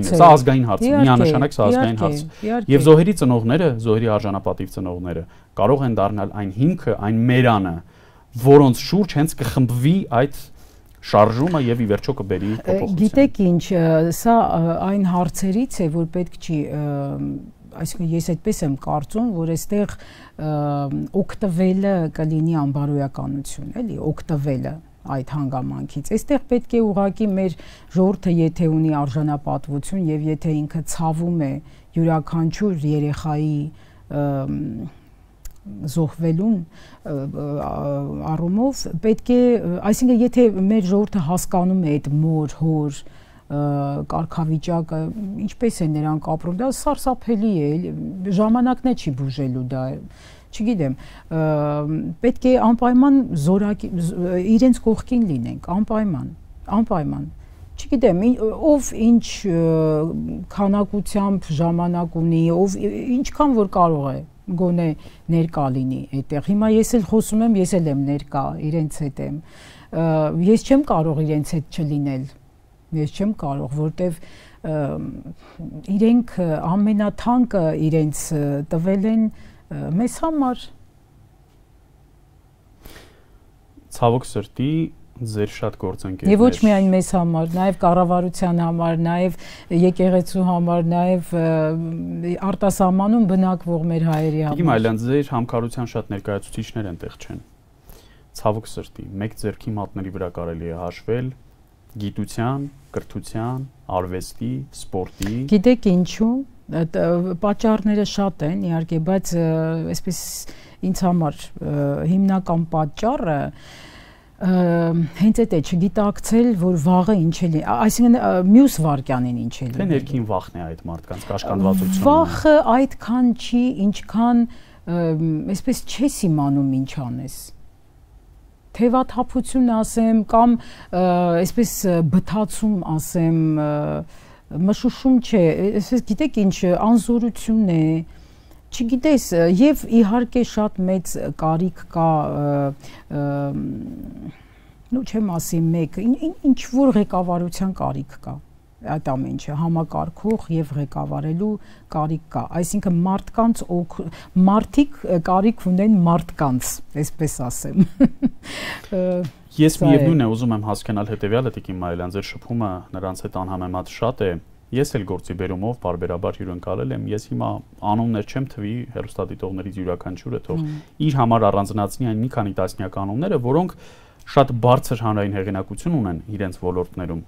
սա ազգային հարց է, միանշանակ սա ազգային հարց է։ Եվ զոհերի ծնողները, զոհերի արժանապատիվ ծնողները կարող են դառնալ այն հիմքը, այն մերանը, որոնց շուրջ հենց կխմբվի այդ շարժումը եւ ի վերջո կբերի փոփոխություն։ Գիտեք ինչ, սա այն հարցերից է, որ պետք չի, այսինքն ես այդպես եմ կարծում, որ այստեղ օգտվելը կլինի անբարոյականություն, էլի, օգտվելը այդ հանգամանքից։ Այստեղ պետք է ուղղակի մեր ժողովուրդը եթե ունի արժանապատվություն եւ եթե ինքը ցավում է յուրաքանչյուր երեխայի զոհվելուն առումով պետք է, այսինքն եթե մեր ժողովուրդը հասկանում է այդ մոր, հոր կարգավիճակը, ինչպես է նրանք ապրում, դա սարսափելի է, ժամանակն է չի բուժելու դա, չգիտեմ, պետք է անպայման իրենց կողքին լինենք, անպայման, չգիտեմ, ով ինչ քանակությամբ ժամանակ ունի, ով ինչքան որ կարող է գոնե ներկա լինի այդտեղ։ Հիմա ես էլ խոսում եմ, ես էլ եմ ներկա, իրենց հետ եմ։ Ես չեմ կարող իրենց հետ չլինել։ Ես չեմ կարող, որտեվ իրենք ամենաթանկը իրենց տվել են մեզ համար։ Ցավոք սրտի ձեր շատ գործընկերներ։ Եվ ոչ միայն մեզ համար, նաև կառավարության համար, նաև եկեղեցու համար, նաև արտասահմանում բնակվող մեր հայերի համար։ Իմ այլան ձեր համքարության շատ ներկայացուցիչներ այնտեղ չեն։ Ցավոք սրտի, մեկ ձեռքի մատների վրա կարելի է հաշվել գիտության, կրթության, արվեստի, սպորտի։ Գիտեք ինչու, պատճառները շատ են, իհարկե, բայց այսպես ինձ համար հիմնական պատճառը հենց այդ է չգիտակցել, որ վաղը ինչ է լինի, այսինքն մյուս վարքյանին ինչ է լինի։ Թե ներքին վախն է այդ մարդկանց կաշկանդվածությունը։ Վախը այդքան չի, ինչքան այսպես չես իմանում ինչ անես։ Թևաթափություն ասեմ կամ այսպես բթացում ասեմ, մշուշում չէ, այսպես գիտեք ինչ անզորություն է, չգիտես, եւ իհարկե շատ մեծ կարիք կա, նո չեմ ասի մեկ, ինչ որ ղեկավարության կարիք կա, այդ ամեն ինչը համակարգող եւ ղեկավարելու կարիք կա, այսինքն մարդիկ կարիք ունեն մարդկանց, այսպես ասեմ։ Ես միևնույն է ուզում եմ հասկանալ հետեւյալը, Տիկին Մարիելյան, ձեր շփումը նրանց հետ անհամեմատ շատ է։ Ես էլ գործի բերումով բարբերաբար հյուրընկալել եմ, ես հիմա անուններ չեմ թվի հեռուստադիտողներից յուրաքանչյուրը թող իր համար առանձնացնի այն մի քանի տասնյակ անունները, որոնք շատ բարձր հանրային հեղինակություն ունեն իրենց ոլորտներում՝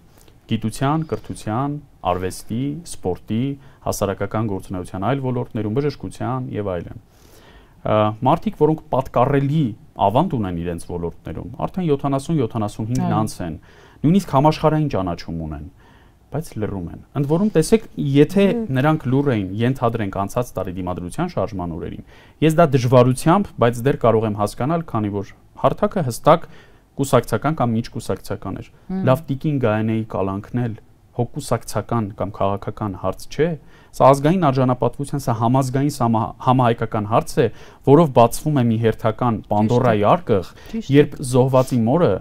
գիտության, կրթության, արվեստի, սպորտի, հասարակական գործունեության այլ ոլորտներում, բժշկության եւ այլն։ Մարդիկ, որոնք պատկառելի ավանդ ունեն իրենց ոլորտներում, արդեն 70-75 անց են, նույնիսկ համաշխարհային ճանաչում ունեն, բայց լռում են։ Ընդ որում տեսեք, եթե նրանք լուռ էին, ենթադրենք անցած տարի դիմադրության շարժման օրերին, ես դա դժվարությամբ, բայց դեռ կարող եմ հասկանալ, քանի որ հարթակը հստակ կուսակցական կամ միջկուսակցական էր։ Լավ Տիկին Գայանեի կալանքնել հոգուսակցական կամ քաղաքական հարց չէ, սա ազգային արժանապատվության, սա համազգային համահայկական հարց է, որով բացվում է մի հերթական Պանդորայի արկղ, երբ զոհվածի մորը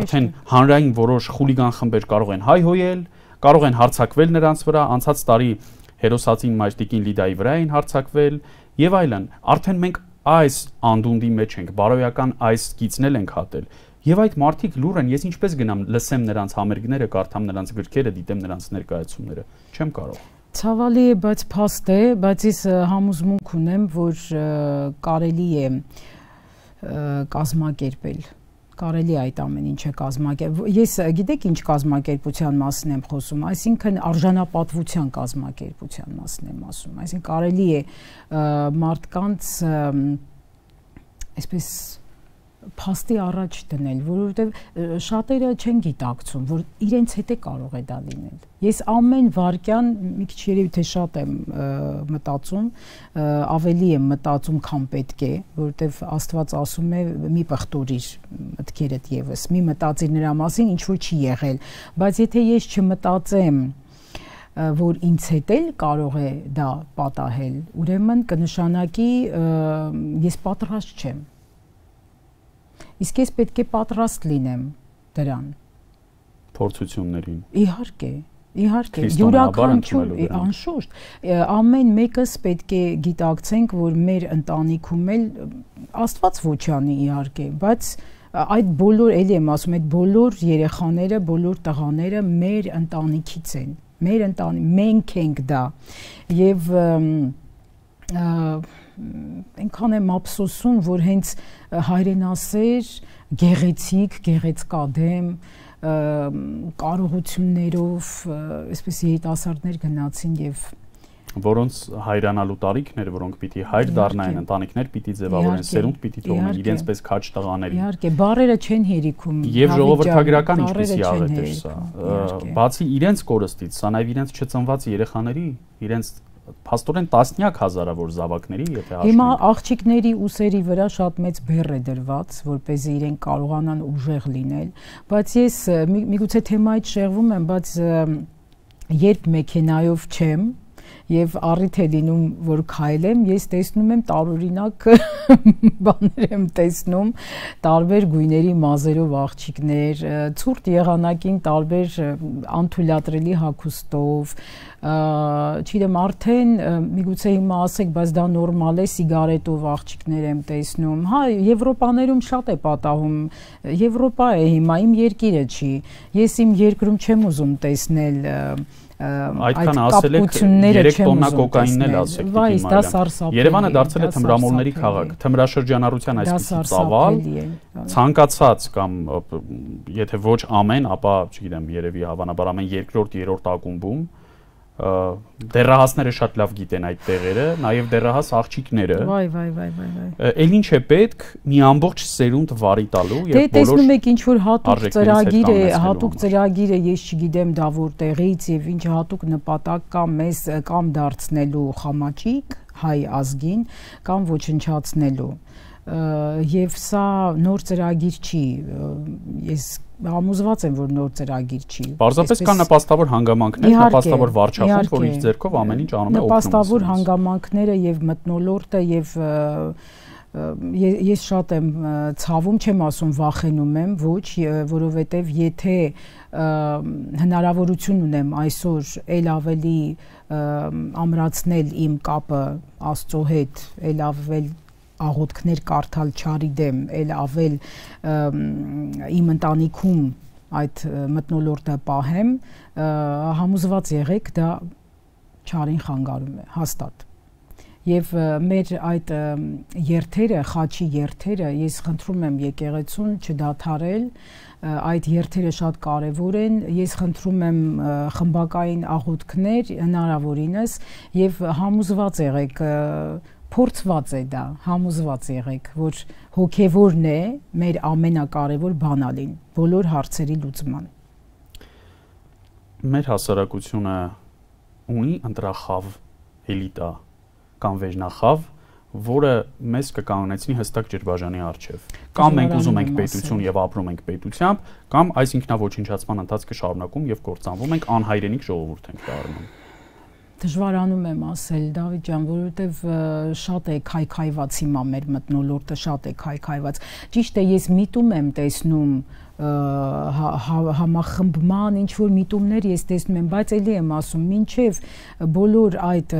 արդեն հանրային որոշ խուլիգան խմբեր կարող են հայհոյել, կարող են հարձակվել նրանց վրա, անցած տարի հերոսացին մայր Տիկին Լիդայի վրա էին հարձակվել եւ այլն։ Արդեն մենք այս անդունդի մեջ ենք, բարոյական այս գիծնել ենք հատել։ Եվ այդ մարդիկ լուր են, ես ինչպես գնամ լսեմ նրանց համերգները, կարդամ նրանց գրքերը, դիտեմ նրանց ներկայացումները, չեմ կարող։ Ցավալի է, բայց փաստ է, բայց ես համոզմունք ունեմ, որ կարելի է կազմակերպել, կարելի է այդ ամեն ինչը կազմակերպել։ Ես գիտեք ինչ կազմակերպության մասին եմ խոսում, այսինքն արժանապատվության կազմակերպության մասին եմ ասում, այսինքն կարելի է մարդկանց այսպես փաստի առաջ դնել, որովհետև շատերը չեն գիտակցում, որ իրենց հետ է կարող է դա լինել։ Ես ամեն վարքյան մի քիչ երևի թե շատ եմ մտածում, ավելի եմ մտածում, քան պետք է, որովհետև Աստված ասում է՝ մի պղտորիր մտքերդ եւս, մի մտածիր նրա մասին, ինչ որ չի եղել, բայց եթե ես չմտածեմ, որ ինձ հետ էլ կարող է դա պատահել, ուրեմն կնշանակի ես պատրաստ չեմ։ Իսկ ես պետք է պատրաստ լինեմ դրան։ Փորձություններին։ Իհարկե, յուրաքանչյուր անշուշտ, ամեն մեկս պետք է գիտակցենք, որ մեր ընտանիքում էլ Աստված ոչանի իհարկե, բայց այդ բոլոր, էլի եմ ասում, այդ բոլոր երեխաները, բոլոր տղաները մեր ընտանիքից են, մենք ենք դա, եւ այնքան եմ ափսոսում, որ հենց հայրենասեր, գեղեցիկ, գեղեցկադեմ կարողություններով այսպես երիտասարդներ գնացին եւ որոնց հայրանալու տարիքներ, որոնք պիտի հայր դառնային, ընտանիքներ պիտի ձևավորեն, սերունդ պիտի թողնեն իրենց պես քաջ տղաների։ Իհարկե, բառերը չեն հերիքում։ Եվ ժողովրդագրական ինչպեսի աղետ էր սա։ Բացի իրենց կորստից, սա նաև իրենց չծնված երեխաների, իրենց փաստորեն տասնյակ հազարավոր զավակների, եթե հաշվենք։ Հիմա աղջիկների ուսերի վրա շատ մեծ բեռ է դրված, որպեսզի իրենք կարողանան ուժեղ լինել, բայց ես միգուցե թեմայից շեղվում եմ, բայց երբ մեքենայով չեմ եւ առիթ է լինում, որ քայլեմ, ես տեսնում եմ տարօրինակ բաներ եմ տեսնում, տարբեր գույների մազերով աղջիկներ, ցուրտ եղանակին տարբեր անթույլատրելի հագուստով, չգիտեմ, արդեն միգուցե հիմա ասեք, բայց դա նորմալ է, սիգարետով աղջիկներ եմ տեսնում։ Հա, Եվրոպաներում շատ է պատահում։ Եվրոպա է հիմա, իմ երկիրը չի։ Ես իմ երկրում չեմ ուզում տեսնել այդքան ասել եք 3 տոննա կոկաինն էլ ասեք դիմայել։ Երևանը դարձել է թմրամոլների քաղաք, թմրաշրջանառության այսպիսի ծավալ, ցանկացած կամ եթե ոչ ամեն, ապա չգիտեմ, երևի հավանաբար ամեն երկրորդ, երրորդ ակումբում դեռահասները շատ լավ գիտեն այդ տեղերը, նաև դեռահաս աղջիկները։ Էլ ինչ է պետք մի ամբողջ սերունդ վարի տալու եւ բոլոր տեսնում եք ինչ որ հատուկ ծրագիր է, ես չգիտեմ դա որտեղից եւ ինչ հատուկ նպատակ կա մեզ կամ դարձնելու խամաճիկ հայ ազգին կամ ոչնչացնելու։ Եվ սա նոր ծրագիր չի, ես համոզված եմ, որ նոր ծրագիր չի։ Պարզապես կան նպաստավոր հանգամանքներ, նպաստավոր վարչախումբ, որ իր ձեռքով ամեն ինչ անում է օգնում։ Նպաստավոր հանգամանքները եւ մթնոլորտը եւ ես շատ եմ ցավում, չեմ ասում վախենում եմ, ոչ, որովհետեւ եթե հնարավորություն ունեմ այսօր ել ավելի ամրացնել իմ կապը Աստծո հետ, ել ավել աղոթքներ կարդալ չարի դեմ, ել ավել իմ ընտանիքում այդ մթնոլորտը պահեմ, համոզված եղեք, դա չարին խանգարում է, հաստատ։ Եվ մեր այդ երթերը, խաչի երթերը, ես խնդրում եմ եկեղեցուն չդադարել, այդ երթերը շատ կարևոր են, ես խնդրում եմ խմբակային աղոթքներ հնարավորինս եւ համոզված եղեք, փորձված է դա, համոզված եղեք, որ հոգևորն է մեր ամենակարևոր բանալին, բոլոր հարցերի լուծման։ Մեր հասարակությունը ունի ընտրախավ էլիտա կամ վերնախավ, որը մեզ կկանգնեցնի հստակ ջրբաժանի առջև։ Կամ մենք ուզում ենք պետություն եւ ապրում ենք պետությամբ, կամ այս ինքնաոչնչացման ընթացքը շարունակում եւ կործանվում ենք, անհայրենիք ժողովուրդ ենք դառնում։ Դժվարանում եմ ասել, Դավիթ ջան, որովհետև շատ է քայքայված հիմա մեր մթնոլորտը, շատ է քայքայված։ Ճիշտ է, ես միտում եմ տեսնում համախմբման ինչ որ միտումներ ես տեսնում եմ, բայց ելի եմ ասում, մինչև բոլոր այդ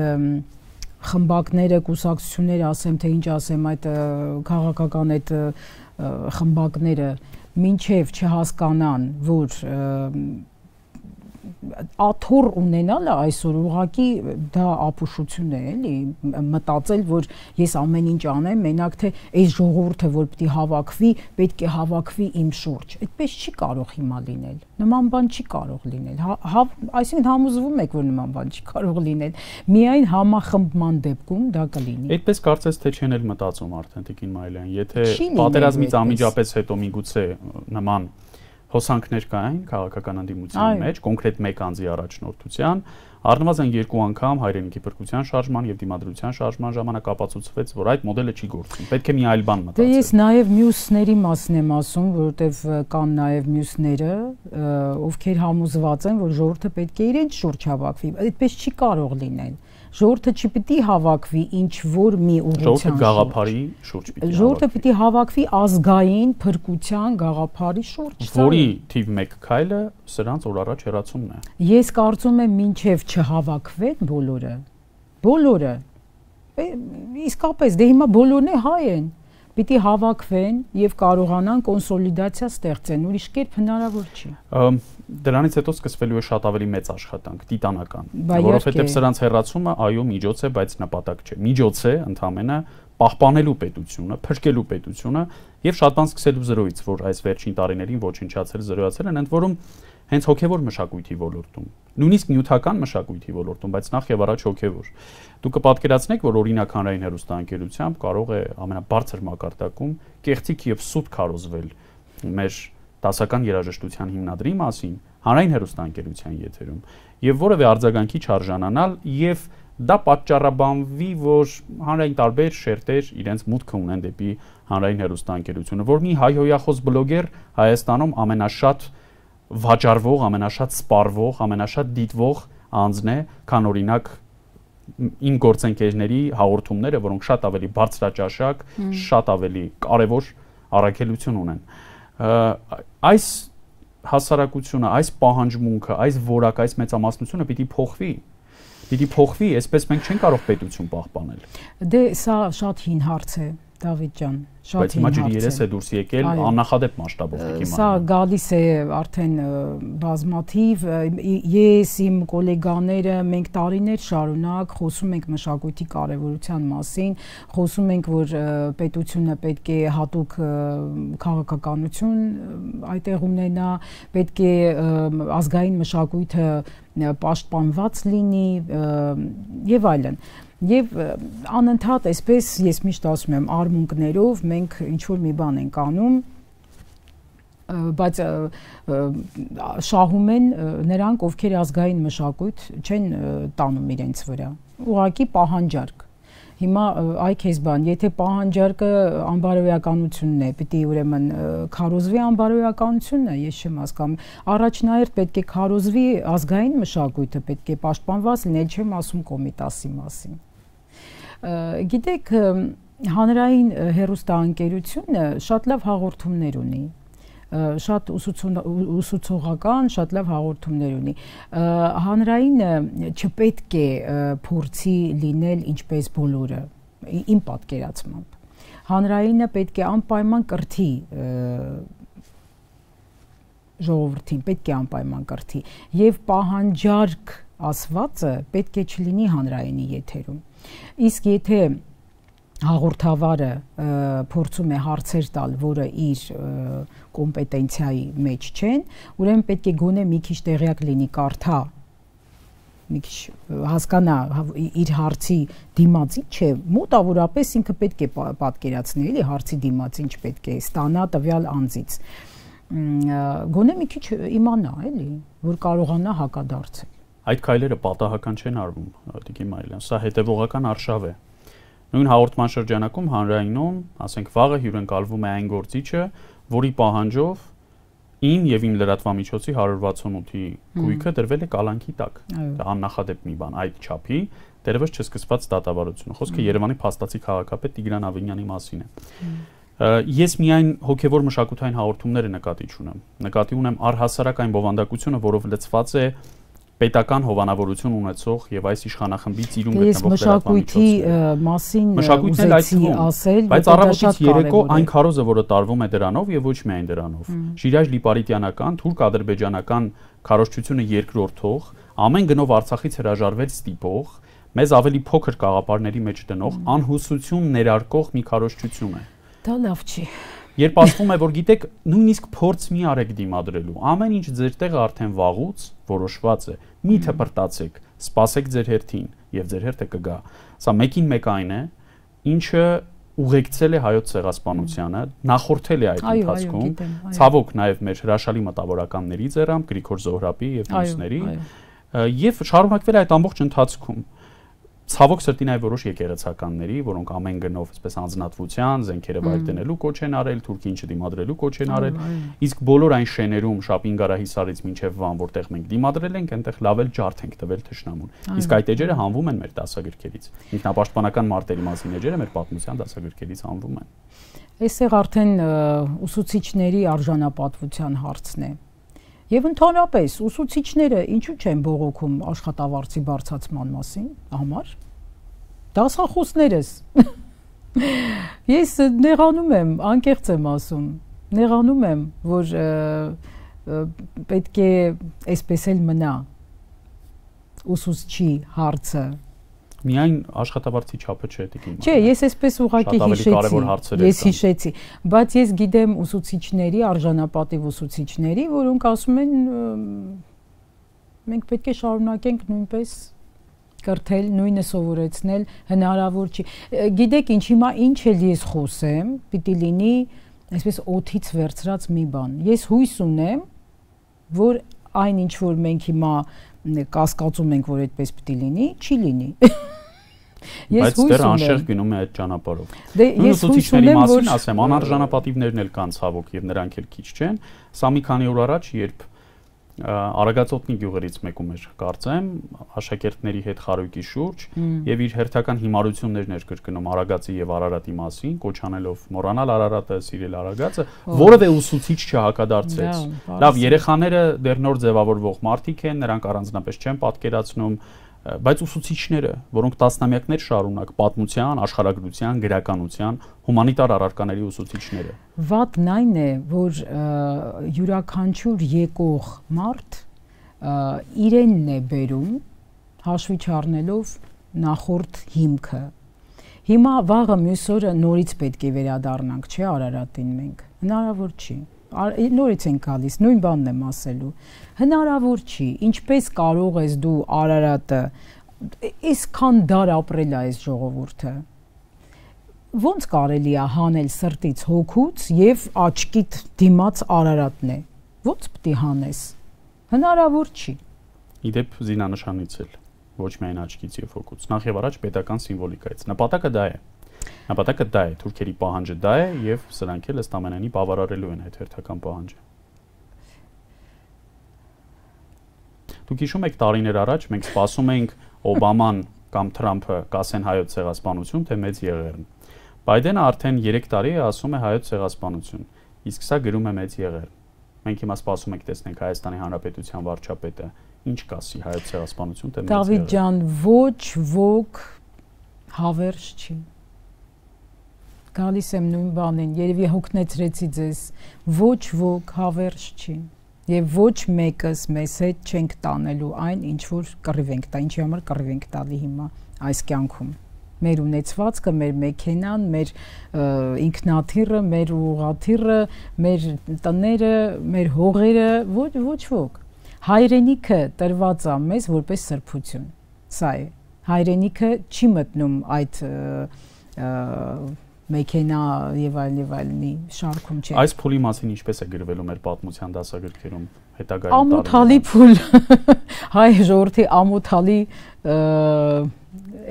խմբակները, կուսակցությունները, ասեմ թե ինչ ասեմ, այդ քաղաքական այդ խմբակները մինչև չհասկանան, որ աթոռ ունենալը այսօր ուղղակի դա ապուշություն է, էլի, մտածել, որ ես ամեն ինչ անեմ, մենակ թե այս ժողովուրդը, որ պետք է հավաքվի, պետք է հավաքվի իմ շուրջ։ Այդպես չի կարող հիմա լինել։ Նման բան չի կարող լինել։ Այսինքն համոզվում եք, որ նման բան չի կարող լինել։ Միայն համախմբման դեպքում դա կլինի։ Այդպես կարծես թե չեն էլ մտածում արդեն Տիկին Մայլյան, եթե պատերազմից անմիջապես հետո միգուցե նման հոսանքներ կային քաղաքական ընդդիմության մեջ, կոնկրետ մեկ անձի առաջնորդության, առնվազն 2 անգամ հայրենիքի փրկության շարժման եւ դիմադրության շարժման ժամանակ ապացուցվեց, որ այդ մոդելը չի գործում։ Պետք է մի այլ բան մտածել։ Դե ես նաեւ մյուսների մասն եմ ասում, որովհետեւ կան նաեւ մյուսները, ովքեր համոզված են, որ ժողովուրդը պետք է իրենց շուրջ հավաքվի։ Այդպես չի կարող լինել։ Ժողովուրդը չպիտի հավաքվի ինչ որ մի ուղղության շուրջ։ Ժողովուրդը գաղափարի շուրջ պիտի հավաքվի։ Ժողովուրդը պիտի հավաքվի ազգային փրկության գաղափարի շուրջ։ Որի թիվ 1 քայլը սրանց օր առաջ հեռացումն է։ Ես կարծում եմ մինչև չհավաքվեն բոլորը, իսկապես դե հիմա բոլորն է հայ են, պիտի հավաքվեն եւ կարողանան կոնսոլիդացիա ստեղծեն, ուրիշ կերպ հնարավոր չի։ Դրանից հետո սկսվելու է շատ ավելի մեծ աշխատանք, տիտանական, որովհետեւ սրանց հեռացումը այո միջոց է, բայց նպատակ չէ։ Միջոց է ընդհանրապես պահպանելու պետությունը, փրկելու պետությունը եւ շատ բան սկսելու զրոյից, որ այս վերջին տարիներին ոչնչացել, զրոյացել են, ընդ որում հենց հոգևոր մշակույթի ոլորտում, նույնիսկ նյութական մշակույթի ոլորտում, բայց նախ եւ առաջ հոգևոր։ Դուք կպատկերացնեք, որ օրինակ հանրային հեռուստաընկերությամբ կարող է ամենաբարձր մակարդակում կեղծիք եւ սուտ քարոզվել մեր դասական երաժշտության հիմնադրի մասին հանրային հեռուստաընկերության եթերում եւ որևէ արձագանքի չարժանանալ եւ դա պատճառաբանվի, որ հանրային տարբեր շերտեր իրենց մուտքը ունեն դեպի հանրային հեռուստաընկերությունը, որ մի հայհոյախոս բլոգեր Հայաստանում ամենաշատ վաճառվող, ամենաշատ սպառվող, ամենաշատ դիտվող անձն է, քան օրինակ իմ գործընկերների հաղորդումները, որոնք շատ ավելի բարձրաճաշակ, շատ ավելի կարևոր առաքելություն ունեն։ Այս հասարակությունը, այս պահանջմունքը, այս որակ, այս մեծամասնությունը պիտի փոխվի, այսպես մենք չենք կարող պետություն պահպանել։ Դե սա շատ հին հարց է, Դավիթ ջան, Բայց հիմա ջրի երես է դուրս եկել աննախադեպ մասշտաբով եկի Սա գալիս է արդեն բազմաթիվ, ես իմ գոլեգաները մենք տարիներ շարունակ խոսում ենք մշակույթի կարևորության մասին, խոսում ենք, որ պետությունը պետք է հատուկ քաղաքականություն այդտեղ ունենա, պետք է ազգային մշակույթը պաշտպանված լինի եւ այլն։ Եվ անընդհատ այսպես ես միշտ ասում եմ արմունկներով մենք ինչ որ մի բան ենք անում, բայց շահում են նրանք, ովքեր ազգային մշակույթ չեն տանում իրենց վրա։ Ուղղակի պահանջարկ։ Հիմա այ քեզ բան, եթե պահանջարկը անբարոյականությունն է, պիտի ուրեմն քարոզվի անբարոյականությունը, ես չեմ հասկանում։ Առաջնահերթ պետք է քարոզվի ազգային մշակույթը, պետք է պաշտպանված լինի, չեմ ասում Կոմիտասի մասին։ Գիտեք, հանրային հեռուստաընկերությունը շատ լավ հաղորդումներ ունի, շատ ուսուցողական, շատ լավ հաղորդումներ ունի։ Հանրայինը չպետք է փորձի լինել ինչպես բոլորը, իմ պատկերացմամբ։ Հանրայինը պետք է անպայման կրթի ժողովրդին, պետք է անպայման կրթի եւ պահանջարկ ասվածը պետք է չլինի հանրայինի եթերում։ Իսկ եթե հաղորդավարը փորձում է հարցեր տալ, որը իր կոմպետենցիայի մեջ չեն, ուրեմն պետք է գոնե մի քիչ տեղյակ լինի, կարդա, մի քիչ հասկանա իր հարցի դիմացի չէ, մոտավորապես ինքը պետք է պատկերացնի, էլի հարցի դիմացին չպետք է ստանա տվյալ անձից։ Գոնե մի քիչ իմանա, էլի, որ կարողանա հակադարձել։ Այդ քայլերը պատահական չեն արվում, Տիկին Մարիլյան, սա հետևողական արշավ է։ Նույն հաղորդման շրջանակում հանրայինում, ասենք վաղը հյուրընկալվում է այն գործիչը, որի պահանջով իմ եւ իմ լրատվամիջոցի 168-ի գույքը դրվել է կալանքի տակ։ Դա աննախադեպ մի բան, այդ չափի դերևս չսկսված դատավարությունը։ Խոսքը Երևանի փաստացի քաղաքապետ Տիգրան Ավինյանի մասին է։ Ես միայն հոգևոր մշակութային հաղորդումները նկատի չունեմ։ Նկատի ունեմ առհասարակ այն բովանդակությունը, որով լցված է պետական հովանավորություն ունեցող եւ այս իշխանախմբի ծիրում գտնվող մշակույթի մասին ուզեցի ասել, բայց առավոտից երեկո այն քարոզը, որը տարվում է դրանով եւ ոչ միայն դրանով, Շիրայր Լիպարիտյանական, թուրք-ադրբեջանական քարոզչությունը երկրորդող, ամեն գնով Արցախից հրաժարվել ստիպող, մեզ ավելի փոքր կաղապարների մեջ դնող, անհուսություն ներարկող մի քարոզչություն է։ Դա լավ չի։ Երբ ասվում է, որ գիտեք, նույնիսկ փորձ մի արեք դիմադրելու, ամեն ինչ ձեր տեղը արդեն վաղուց որոշված է, մի թփրտացեք, սպասեք ձեր հերթին եւ ձեր հերթը կգա։ Սա մեկին մեկ այն է, ինչը ուղեկցել է հայոց ցեղասպանությանը, նախորդել է այդ ընթացքում, ցավոք նաեւ մեր հրաշալի մտավորականների ձեռամբ, Գրիգոր Զոհրաբի եւ մյուսների, եւ շարունակվել է այդ ամբողջ ընթացքում։ Ցավոք սրտի նաև որոշ եկեղեցականների, որոնք ամեն գնով այսպես անձնատվության, զենքերը վայր դնելու կոչ են արել, թուրքին չդիմադրելու կոչ են արել, իսկ բոլոր այն շեներում Շապին-Գարահիսարից մինչև Վան, որտեղ մենք դիմադրել ենք, այնտեղ լավ էլ ջարդ ենք տվել թշնամուն։ Իսկ այդ էջերը հանվում են մեր դասագրքերից։ Ինքնապաշտպանական մարտերի մասին էջերը մեր պատմության դասագրքերից հանվում են։ Այստեղ արդեն ուսուցիչների արժանապատվության հարցն է։ Եվ ընդհանրապես ուսուցիչները ինչու չեն բողոքում աշխատավարձի բարձրացման մասին համար։ Դասախոսներս։ Ես նեղանում եմ, անկեղծ եմ ասում, նեղանում եմ, որ պետք է այսպես էլ մնա ուսուցչի հարցը Միայն աշխատավարձի չափը չէ դեպի։ Չէ, ես այսպես ուղղակի հիշեցի, բայց ես գիտեմ ուսուցիչների, արժանապատիվ ուսուցիչների, որոնք ասում են մենք պետք է շարունակենք նույնպես կրթել, նույնը սովորեցնել, հնարավոր չի։ Գիտեք ինչ, հիմա ինչ էլ ես խոսեմ, պիտի լինի այսպես օդից վերցրած մի բան։ Ես հույս ունեմ, որ այն ինչ որ մենք հիմա կասկածում ենք, որ այդպես պիտի լինի, չի լինի։ Բայց դեռ անշեղ գնում է այդ ճանապարհով։ Ես ուսուցիչների մասին ասեմ, անարժանապատիվներն էլ կան ցավոք եւ նրանք էլ քիչ չեն։ Սա մի քանի օր առաջ, երբ Արագածոտնի գյուղերից մեկում էր, կարծեմ, աշակերտների հետ խարույկի շուրջ եւ իր հերթական հիմարություններն էր կրկնում Արագածի եւ Արարատի մասին, կոչանելով մոռանալ Արարատը, սիրել Արագածը, որևէ ուսուցիչ չհակադարձեց։ Լավ, երեխաները դեռ նոր ձևավորվող մարդիկ են, նրանք առանձնապես չեն պատկերացնում, բայց ուսուցիչները, որոնք տասնամյակներ շարունակ պատմության, աշխարհագրության, գրականության, հումանիտար առարկաների ուսուցիչները։ Վատն այն է, որ յուրաքանչյուր եկող մարդ իրենն է բերում, հաշվի չառնելով նախորդ հիմքը։ Հիմա վաղը մյուս օրը նորից պետք է վերադառնանք, չէ՞ Արարատին մենք։ Հնարավոր չի։ Նորից են գալիս, նույն բանն եմ ասելու։ Հնարավոր չի, ինչպես կարող ես դու Արարատը, այսքան դար ապրել է այս ժողովուրդը։ Ոնց կարելի է հանել սրտից հոգուց եւ աչքիդ դիմաց Արարատն է։ Ոնց պետք է հանես։ Հնարավոր չի։ Իդեպ զինանշանից էլ ոչ միայն աչքից եւ հոգուց, նախ եւ առաջ պետական սիմվոլիկայից։ Նպատակը դա է։ Նպատակը դա է, թուրքերի պահանջը դա է եւ սրանք էլ ըստ ամենայնի բավարարելու են այդ հերթական պահանջը։ Դուք հիշում եք տարիներ առաջ մենք սպասում էինք Օբաման կամ Թրամփը կասեն հայոց ցեղասպանություն, թե մեծ եղերն։ Բայդենը արդեն 3 տարի է ասում է հայոց ցեղասպանություն, իսկ սա գրում է մեծ եղեր։ Մենք հիմա սպասում ենք տեսնենք Հայաստանի Հանրապետության վարչապետը ինչ կասի հայոց ցեղասպանություն, թե մեծ եղեր։ Դավիթ ջան, ոչ ոք հավերժ չի։ Գալիս եմ նույն բանին, երևի հոգնեցրեցի ձեզ, ոչ ոք հավերժ չի եւ ոչ մեկս մեզ հետ չենք տանելու այն, ինչ որ կռիվ ենք տա, ինչի համար կռիվ ենք տալի հիմա այս կյանքում։ Մեր ունեցվածքը, մեր մեքենան, մեր ինքնաթիռը, մեր ուղղաթիռը, մեր տները, մեր հողերը, ոչ ոք։ Հայրենիքը տրված է մեզ որպես սրբություն։ Սա է։ Հայրենիքը չի մտնում այդ մեքենա եւ այլնի շարքում չէ։ Այս փուլի մասին ինչպես է գրվելու մեր պատմության դասագրքերում հետագայում։ Ամոթալի փուլ, հայ ժողովրդի ամոթալի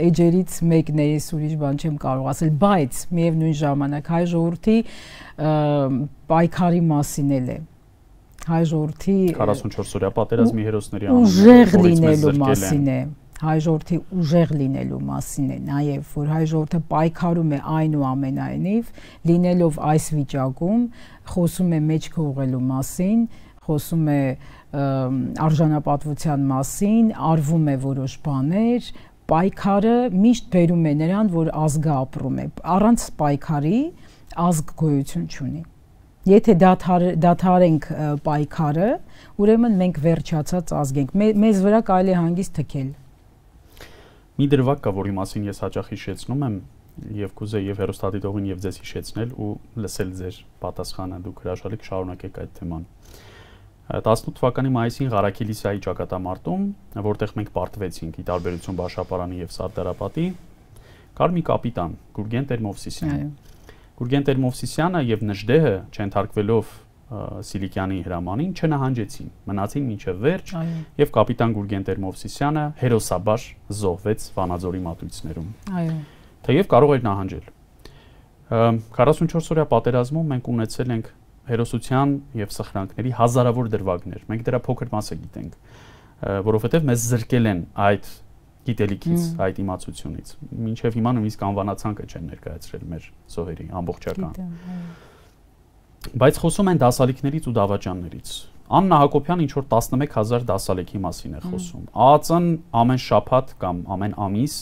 էջերից մեկն է, ես ուրիշ բան չեմ կարող ասել, բայց միևնույն ժամանակ հայ ժողովրդի պայքարի մասին էլ է։ Հայ ժողովրդի 44-օրյա պատերազմի հերոսների ուժեղ լինելու մասին է։ Հայ ժողովրդի ուժեղ լինելու մասին է, նաև որ հայ ժողովուրդը պայքարում է այնուամենայնիվ, լինելով այս վիճակում, խոսում է մեջքը ուղղելու մասին, խոսում է արժանապատվության մասին, արվում է որոշ բաներ, պայքարը միշտ բերում է նրան, որ ազգը ապրում է, առանց պայքարի ազգ գոյություն չունի։ Եթե դադարենք պայքարը, ուրեմն մենք վերջացած ազգ ենք, մեզ վրա կարելի է հանգիստ թքել։ Մի դրվագ կա, որի մասին ես հաճախ հիշեցնում եմ եւ կուզեի եւ հերոստատիտողին եւ ձեզ հիշեցնել ու լսել ձեր պատասխանը, դուք հրաշալի կշարունակեք այդ թեման։ 18 թվականի մայիսին Ղարաքիլիսայի ճակատամարտում, որտեղ մենք պարտվեցինք ի տարբերություն Բաշապարանի եւ Սարդարապատի, կար մի կապիտան Գուրգեն Տեր-Մովսիսյանը։ Գուրգեն Տեր-Մովսիսյանը եւ Նժդեհը չընթարկվելով Սիլիկյանի հրամանին չնահանջեցին, մնացին մինչև վերջ եւ կապիտան Գուրգեն Տեր-Մովսիսյանը հերոսաբար զոհվեց Վանաձորի մատույցներում։ Այո։ Թեև կարող էր նահանջել։ 44-օրյա պատերազմում մենք ունեցել ենք հերոսության եւ սխրանքների հազարավոր դրվագներ։ Մենք դրա փոքր մասը գիտենք, որովհետեւ մեզ զրկել են այդ գիտելիքից, այդ իմացությունից։ Մինչև հիմա նույնիսկ անվանացանկը չեն ներկայացրել մեր զոհերի ամբողջական։ Բայց խոսում են դասալիքներից ու դավաճաններից։ Աննա Հակոբյան ինչ որ 11000 դասալիքի մասին է խոսում։ ԱԱԾ-ն ամեն շաբաթ կամ ամեն ամիս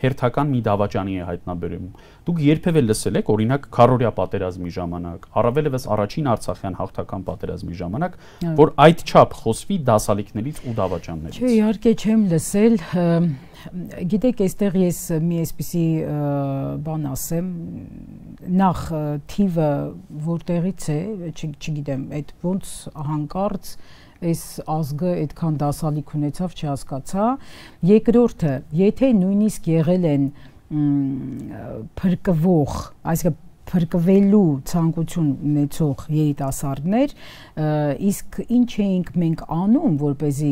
հերթական մի դավաճանի է հայտնաբերում։ Դուք երբևէ լսել եք օրինակ քարորիա պատերազմի ժամանակ, առավելևս առաջին Արցախյան հաղթական պատերազմի ժամանակ, որ այդ չափ խոսվի դասալիքներից ու դավաճաններից։ Չէ, իհարկե չեմ լսել, գիտեք, այստեղ ես մի այսպիսի բան ասեմ, նախ թիվը որտեղից է, չգիտեմ, այդ ոնց հանկարծ այս ազգը այդքան դասալիք ունեցավ, չհասկացա։ Երկրորդը, եթե նույնիսկ եղել են փրկվող, այսինքն փրկվելու ցանկություն ունեցող երիտասարդներ, իսկ ինչ էինք մենք անում, որպեսզի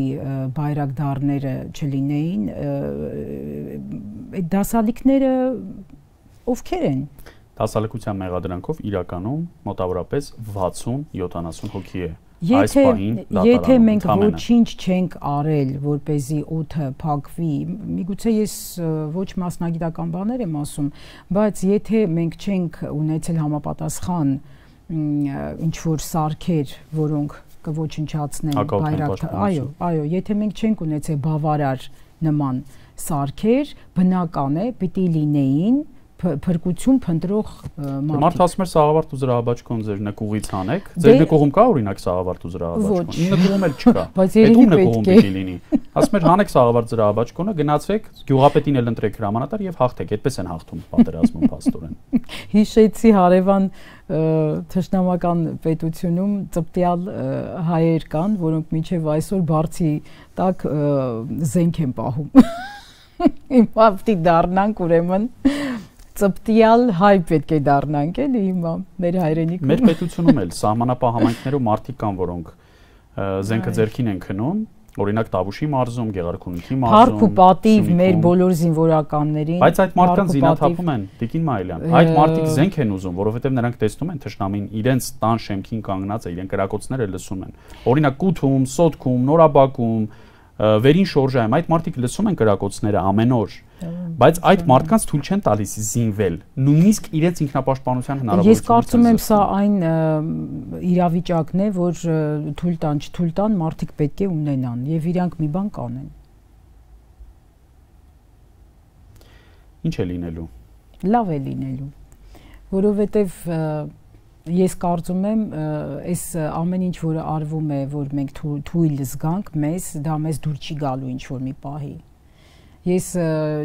բայրակդարները չլինեին, այդ դասալիքները ովքեր են։ Դասալիկության մեղադրանքով իրականում մոտավորապես 60-70 հոգի է։ Եթե մենք ոչինչ չենք արել, որպեսզի օդը փակվի, միգուցե ես ոչ մասնագիտական բաներ եմ ասում, բայց եթե մենք չենք ունեցել համապատասխան ինչ որ սարքեր, որոնք կոչնչացնեն այո, եթե մենք չենք ունեցել բավարար նման սարքեր, բնական է, պիտի լինեին փրկություն փնտրող մարդիկ։ Մարդ ասում է Սաղավարտ ու Զրահաբաճկոն ձեր նկուղից հանեք։ Ձեր նկուղում կա օրինակ Սաղավարտ ու Զրահաբաճկոն։ Իմ նկուղում էլ չկա։ Այդ ում նկուղում պիտի լինի։ Ասում էր հանեք Սաղավարտ Զրահաբաճկոնը, գնացեք, գյուղապետին էլ ընտրեք հրամանատար եւ հաղթեք։ Այդպես են հաղթում պատերազմում փաստորեն։ Հիշեցի հարևան թշնամական պետությունում ծպտյալ հայեր կան, որոնք մինչև այսօր բարձի տակ զենք են պահում։ Հիմա պիտի դառնանք ուրեմն ծպտյալ հայ պետք է դառնանք էլի հիմա մեր հայրենիքում։ Մեր պետությունում էլ սահմանապահ համայնքներում մարդիկ կան, որոնք զենքը ձեռքին են քնում, օրինակ Տավուշի մարզում, Գեղարքունիքի մարզում։ Փառք ու պատիվ մեր բոլոր զինվորականներին։ Բայց այդ մարդկանց զինաթափում են, Տիկին Մայլյան։ Այդ մարդիկ զենք են ուզում, որովհետև նրանք տեսնում են թշնամին իրենց տան շեմքին կանգնած է, իրենք կրակոցները լսում են։ Օրինակ Կութում, Սոտքում, Նորաբակում, Վերին շորժայում այդ մարդիկ լսում են կրակոցները ամեն օր, բայց այդ մարդկանց թույլ չեն տալիս զինվել, նույնիսկ իրենց ինքնապաշտպանության հնարավորությունը։ Ես կարծում եմ սա այն իրավիճակն է, որ թույլ տան, չթույլ տան մարդիկ պետք է ունենան եւ իրանք մի բան կանեն։ Ինչ է լինելու։ Լավ է լինելու, որովհետեւ ես կարծում եմ, այս ամեն ինչ, որը արվում է, որ մենք թույլ զգանք մեզ, դա մեզ դուր չի գալու ինչ որ մի պահի։ Ես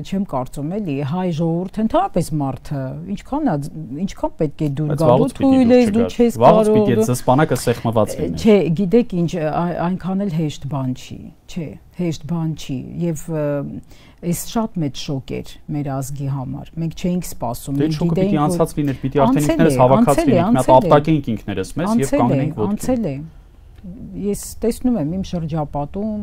չեմ կարծում էլի հայ ժողովուրդը ընդհանրապես մարդը ինչքան պետք է դուր գալու թույլ ես դու չես կարող վաղուց պիտի զսպանակը սեղմված լինի։ Չէ, գիտեք ինչ, այնքան էլ հեշտ բան չի, չէ, հեշտ բան չի եւ այս շատ մեծ շոկ էր մեր ազգի համար։ Մենք չէինք սպասում, մենք գիտեինք, պիտի անցած լիներ, պիտի արդեն ինքներս հավաքած լինենք, մի հատ ապտակենք ինքներս մեզ եւ կանգնենք ոտքի։ Անցել է։ Ես տեսնում եմ իմ շրջապատում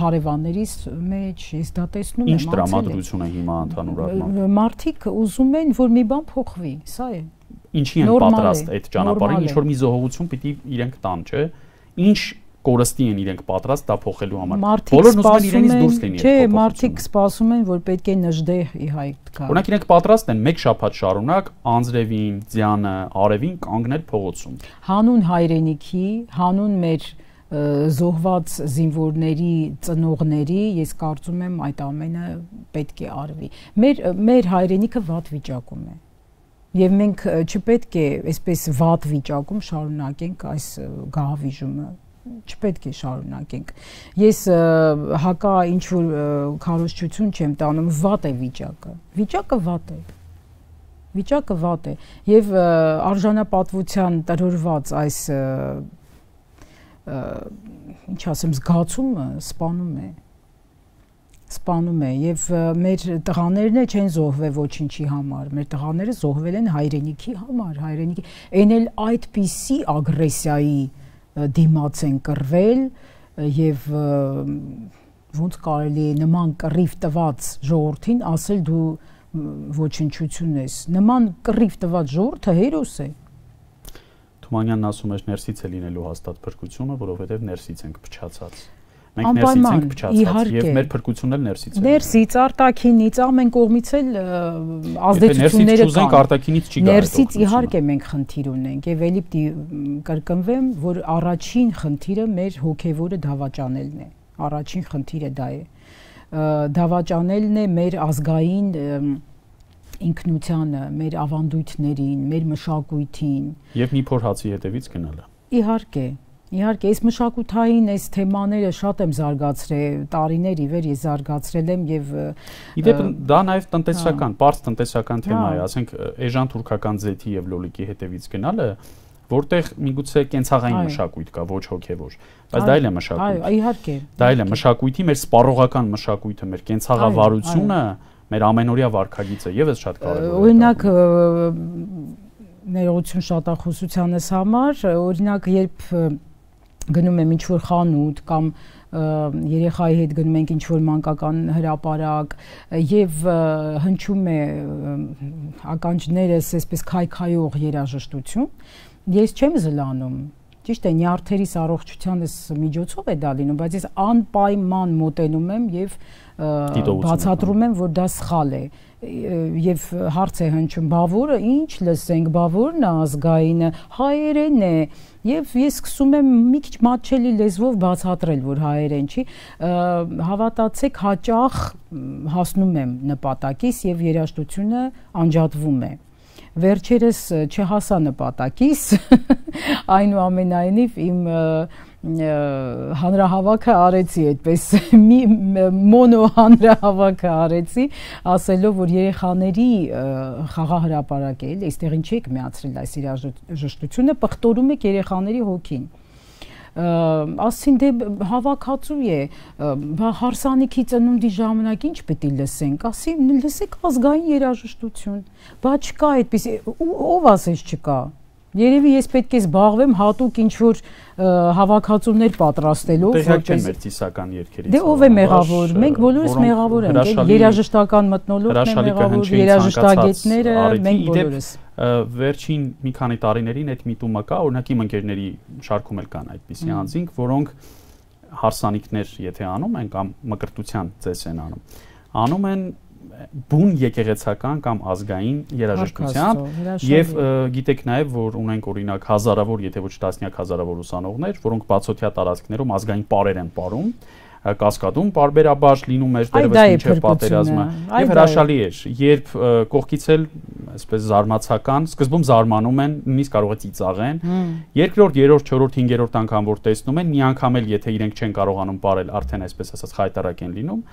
հարևաններիս մեջ, ես դա տեսնում եմ։ Ինչ տրամադրություն է հիմա ընդհանուր առմամբ։ Մարդիկ ուզում են, որ մի բան փոխվի, սա է։ Ինչի են պատրաստ այդ ճանապարհին, ինչ որ մի զոհողություն պիտի իրենք տան, չէ։ Ինչ կորստի են իրենք պատրաստ դա փոխելու համար։ Բոլորն ուզում են իրենից դուրս լինի։ Չէ, մարդիկ սպասում են, որ պետք է նժդեհ ի հայտ գա։ Օրինակ իրենք պատրաստ են մեկ շաբաթ շարունակ Անձրևին, Ձյանը, Արևին կանգնել փողոցում։ Հանուն հայրենիքի, հանուն մեր զոհված զինվորների ծնողների, ես կարծում եմ այդ ամենը պետք է արվի։ Մեր հայրենիքը վատ վիճակում է։ Եվ մենք չպետք է այսպես վատ վիճակում շարունակենք այս գահավիժումը։ Չպետք է շարունակենք։ Ես հակա ինչ որ քարոզչություն չեմ տանում, վատ է վիճակը։ Վիճակը վատ է։ Վիճակը վատ է։ Եվ արժանապատվության տրորված այս ինչ ասեմ, զգացումը սպանում է եւ մեր տղաներն չեն զոհվել ոչինչի համար, մեր տղաները զոհվել են հայրենիքի համար, հայրենիքի այն էլ այդպիսի ագրեսիայի դիմաց են կռվել եւ ոնց կարելի է նման կռիվ տված ժողովրդին ասել դու ոչնչություն ես։ Նման կռիվ տված ժողովուրդը հերոս է։ Թումանյանն ասում էր ներսից է լինելու հաստատ փրկությունը, որովհետեւ ներսից ենք փչացած։ Մենք ներսից ենք փչացած եւ մեր փրկությունն էլ ներսից է։ Ներսից, արտաքինից, ամեն կողմից էլ ազդեցությունները կան։ Չուզենք արտաքինից չի գա։ Ներսից իհարկե մենք խնդիր ունենք եւ ելի պիտի կրկնվեմ, որ առաջին խնդիրը մեր հոգեվորը դավաճանելն է։ Առաջին խնդիրը դա է։ դավաճանելն է մեր ազգային ինքնությանը, մեր ավանդույթներին, մեր մշակույթին եւ մի փոր հացի հետևից գնալը։ Իհարկե, այս մշակութային այս թեմաները շատ եմ զարգացրել, տարիներ ի վեր ես զարգացրել եմ եւ իդեպ դա նաեւ տնտեսական, բարձ տնտեսական թեմա է, ասենք էժան թուրքական ձեթի եւ լոլիկի հետևից գնալը, որտեղ միգուցե կենցաղային մշակույթ կա, ոչ հոգեվոր, բայց դա էլ է մշակույթ։ Այո, իհարկե։ Դա էլ է մշակույթի մեր սպառողական մշակույթը, մեր կենցաղավարությունը, մեր ամենօրյա վարքագիծը եւս շատ կարեւոր է։ Օրինակ ներողություն շատախոսությանս համար, օրինակ երբ գնում եմ ինչ-որ խանութ կամ երեխայի հետ գնում ենք ինչ-որ մանկական հրապարակ եւ հնչում է ականջներս այսպես քայքայող երաժշտություն, ես չեմ զլանում։ Ճիշտ է, նյարդերիս առողջությանս միջոցով է դա լինում, բայց ես անպայման մոտենում եմ եւ բացատրում եմ, որ դա սխալ է։ Եվ հարց է հնչում, բա որը ինչ լսենք, բա որն է ազգայինը, հայերեն է, եւ ես սկսում եմ մի քիչ մատչելի լեզվով բացատրել, որ հայերեն չի, հավատացեք, հաճախ հասնում եմ նպատակիս եւ երաժշտությունը անջատվում է։ Վերջերս չհասա նպատակիս, այնուամենայնիվ իմ հանրահավաքը արեցի այդպես մի մոնո հանրահավաքը արեցի, ասելով, որ երեխաների խաղահրապարակ է, այստեղ ինչ եք միացրել այս երաժշտությունը, պղտորում եք երեխաների հոգին։ Ասին դե հավաքածու է, հարսանիքի ծնունդի ժամանակ ինչ պետք է լսենք, ասի լսեք ազգային երաժշտություն, բա չկա այդպես, ով ասես չկա։ Երևի ես պետք է զբաղվեմ հատուկ ինչ-որ հավաքածուներ պատրաստելով, որպես մեր ծիսական երգերից։ Դե ով է մեղավոր։ Մենք բոլորս մեղավոր ենք, երաժշտական մթնոլորտն է մեղավոր, երաժշտագետները, մենք բոլորս։ Վերջին մի քանի տարիներին այդ միտումը կա, օրինակ իմ ընկերների շարքում էլ կան այդպիսի անձինք, որոնք հարսանիքներ եթե անում են կամ մկրտության ծես են անում են բուն եկեղեցական կամ ազգային երաժշտությամբ եւ գիտեք նաեւ որ ունենք օրինակ հազարավոր եթե ոչ տասնյակ հազարավոր ուսանողներ, որոնք բացօթյա տարածքներում ազգային պարեր են ապարում, կասկադում բարբերաբար լինում էր դերևս մինչև պատերազմը եւ հրաշալի էր, երբ կողքից էլ այսպես զարմացական, սկզբում զարմանում են, նույնիսկ կարող է ծիծաղեն, երկրորդ, երրորդ, չորրորդ, հինգերորդ անգամ որ տեսնում են, մի անգամ էլ եթե իրենք չեն կարողանում ապարել, արդեն այսպես ասած խայտարակ են լինում,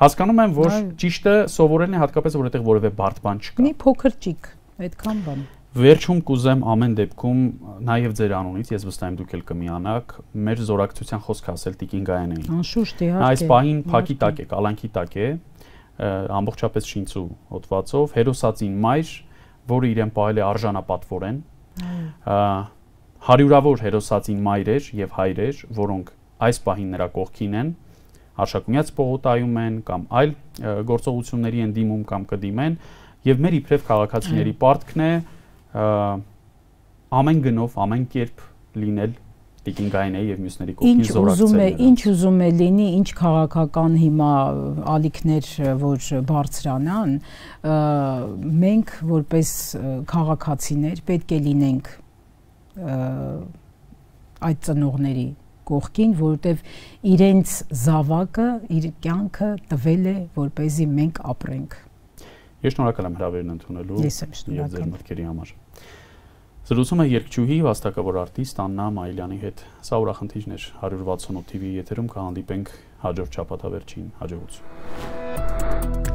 հասկանում եմ, որ ճիշտը սովորելն է հատկապես որովհետեւ որևէ բարդ բան չկա։ Մի փոքր ճիկ, այդքան բան։ Վերջում կուզեմ ամեն դեպքում նաև ձեր անունից ես վստահ եմ դուք էլ կմիանաք մեր զորակցության խոսքը ասել Տիկին Գայանին։ Անշուշտ իհարկե։ Այս պահին փակի տակ է, կալանքի տակ է, ամբողջապես շինծու հոդվածով հերոսածին մայր, որը իրեն պահել է արժանապատվորեն, հարյուրավոր հերոսածին մայրեր եւ հայրեր, որոնք այս պահին նրա կողքին են, Արշակունյաց պողոտայում են կամ այլ գործողությունների են դիմում կամ կդիմեն եւ մեր իբրև քաղաքացիների պարտքն է ամեն գնով, ամեն կերպ լինել Տիկին Գայանեի եւ մյուսների կողքին զորակցել։ Ինչ ուզում է լինի, ինչ քաղաքական հիմա ալիքներ որ բարձրանան, մենք որպես քաղաքացիներ պետք է լինենք այդ ծնողների կողքին, որովհետեւ իրենց զավակը, իր կյանքը տվել է, որպեսզի մենք ապրենք։ Ես շնորհակալ եմ հրավերն ընդունելու եւ ձեր մտքերի համար։ Զրուցում է երգչուհի, վաստակավոր արտիստ Աննա Մայիլյանի հետ։ Սա ուրախնդիրն էր 168 TV եթերում կհանդիպենք հաջորդ շաբաթավերջին, հաջողություն։